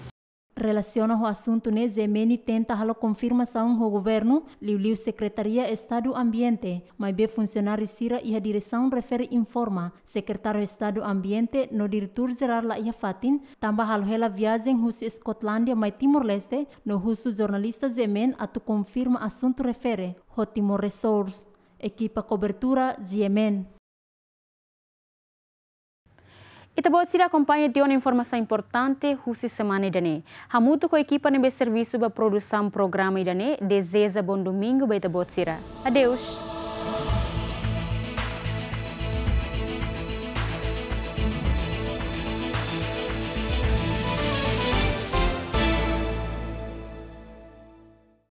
Relasiona ho asuntu ne'e, G M N tenta halo konfirmasaun ho governu, liuliu Sekretaria Estadu Ambiente, maibé funsionáriu sira iha diresaun refere informa, Sekretáriu Estadu Ambiente no Diretór Jerál la iha fatin, tanba halo hela viajen husi Eskotlándia mai Timor-Leste, no husu jornalista G M N atu konfirma asuntu refere ho Timor Resource. Ekipa kobertura, G M N. Ita-boot sira akompaña tiha ona informasaun importante husi semana ida-ne'e. Hamutuk ho ekipa ne'ebé servisu ba produsaun programa ida-ne'e, dezeja bom domingu ba ita-boot sira. Adeus.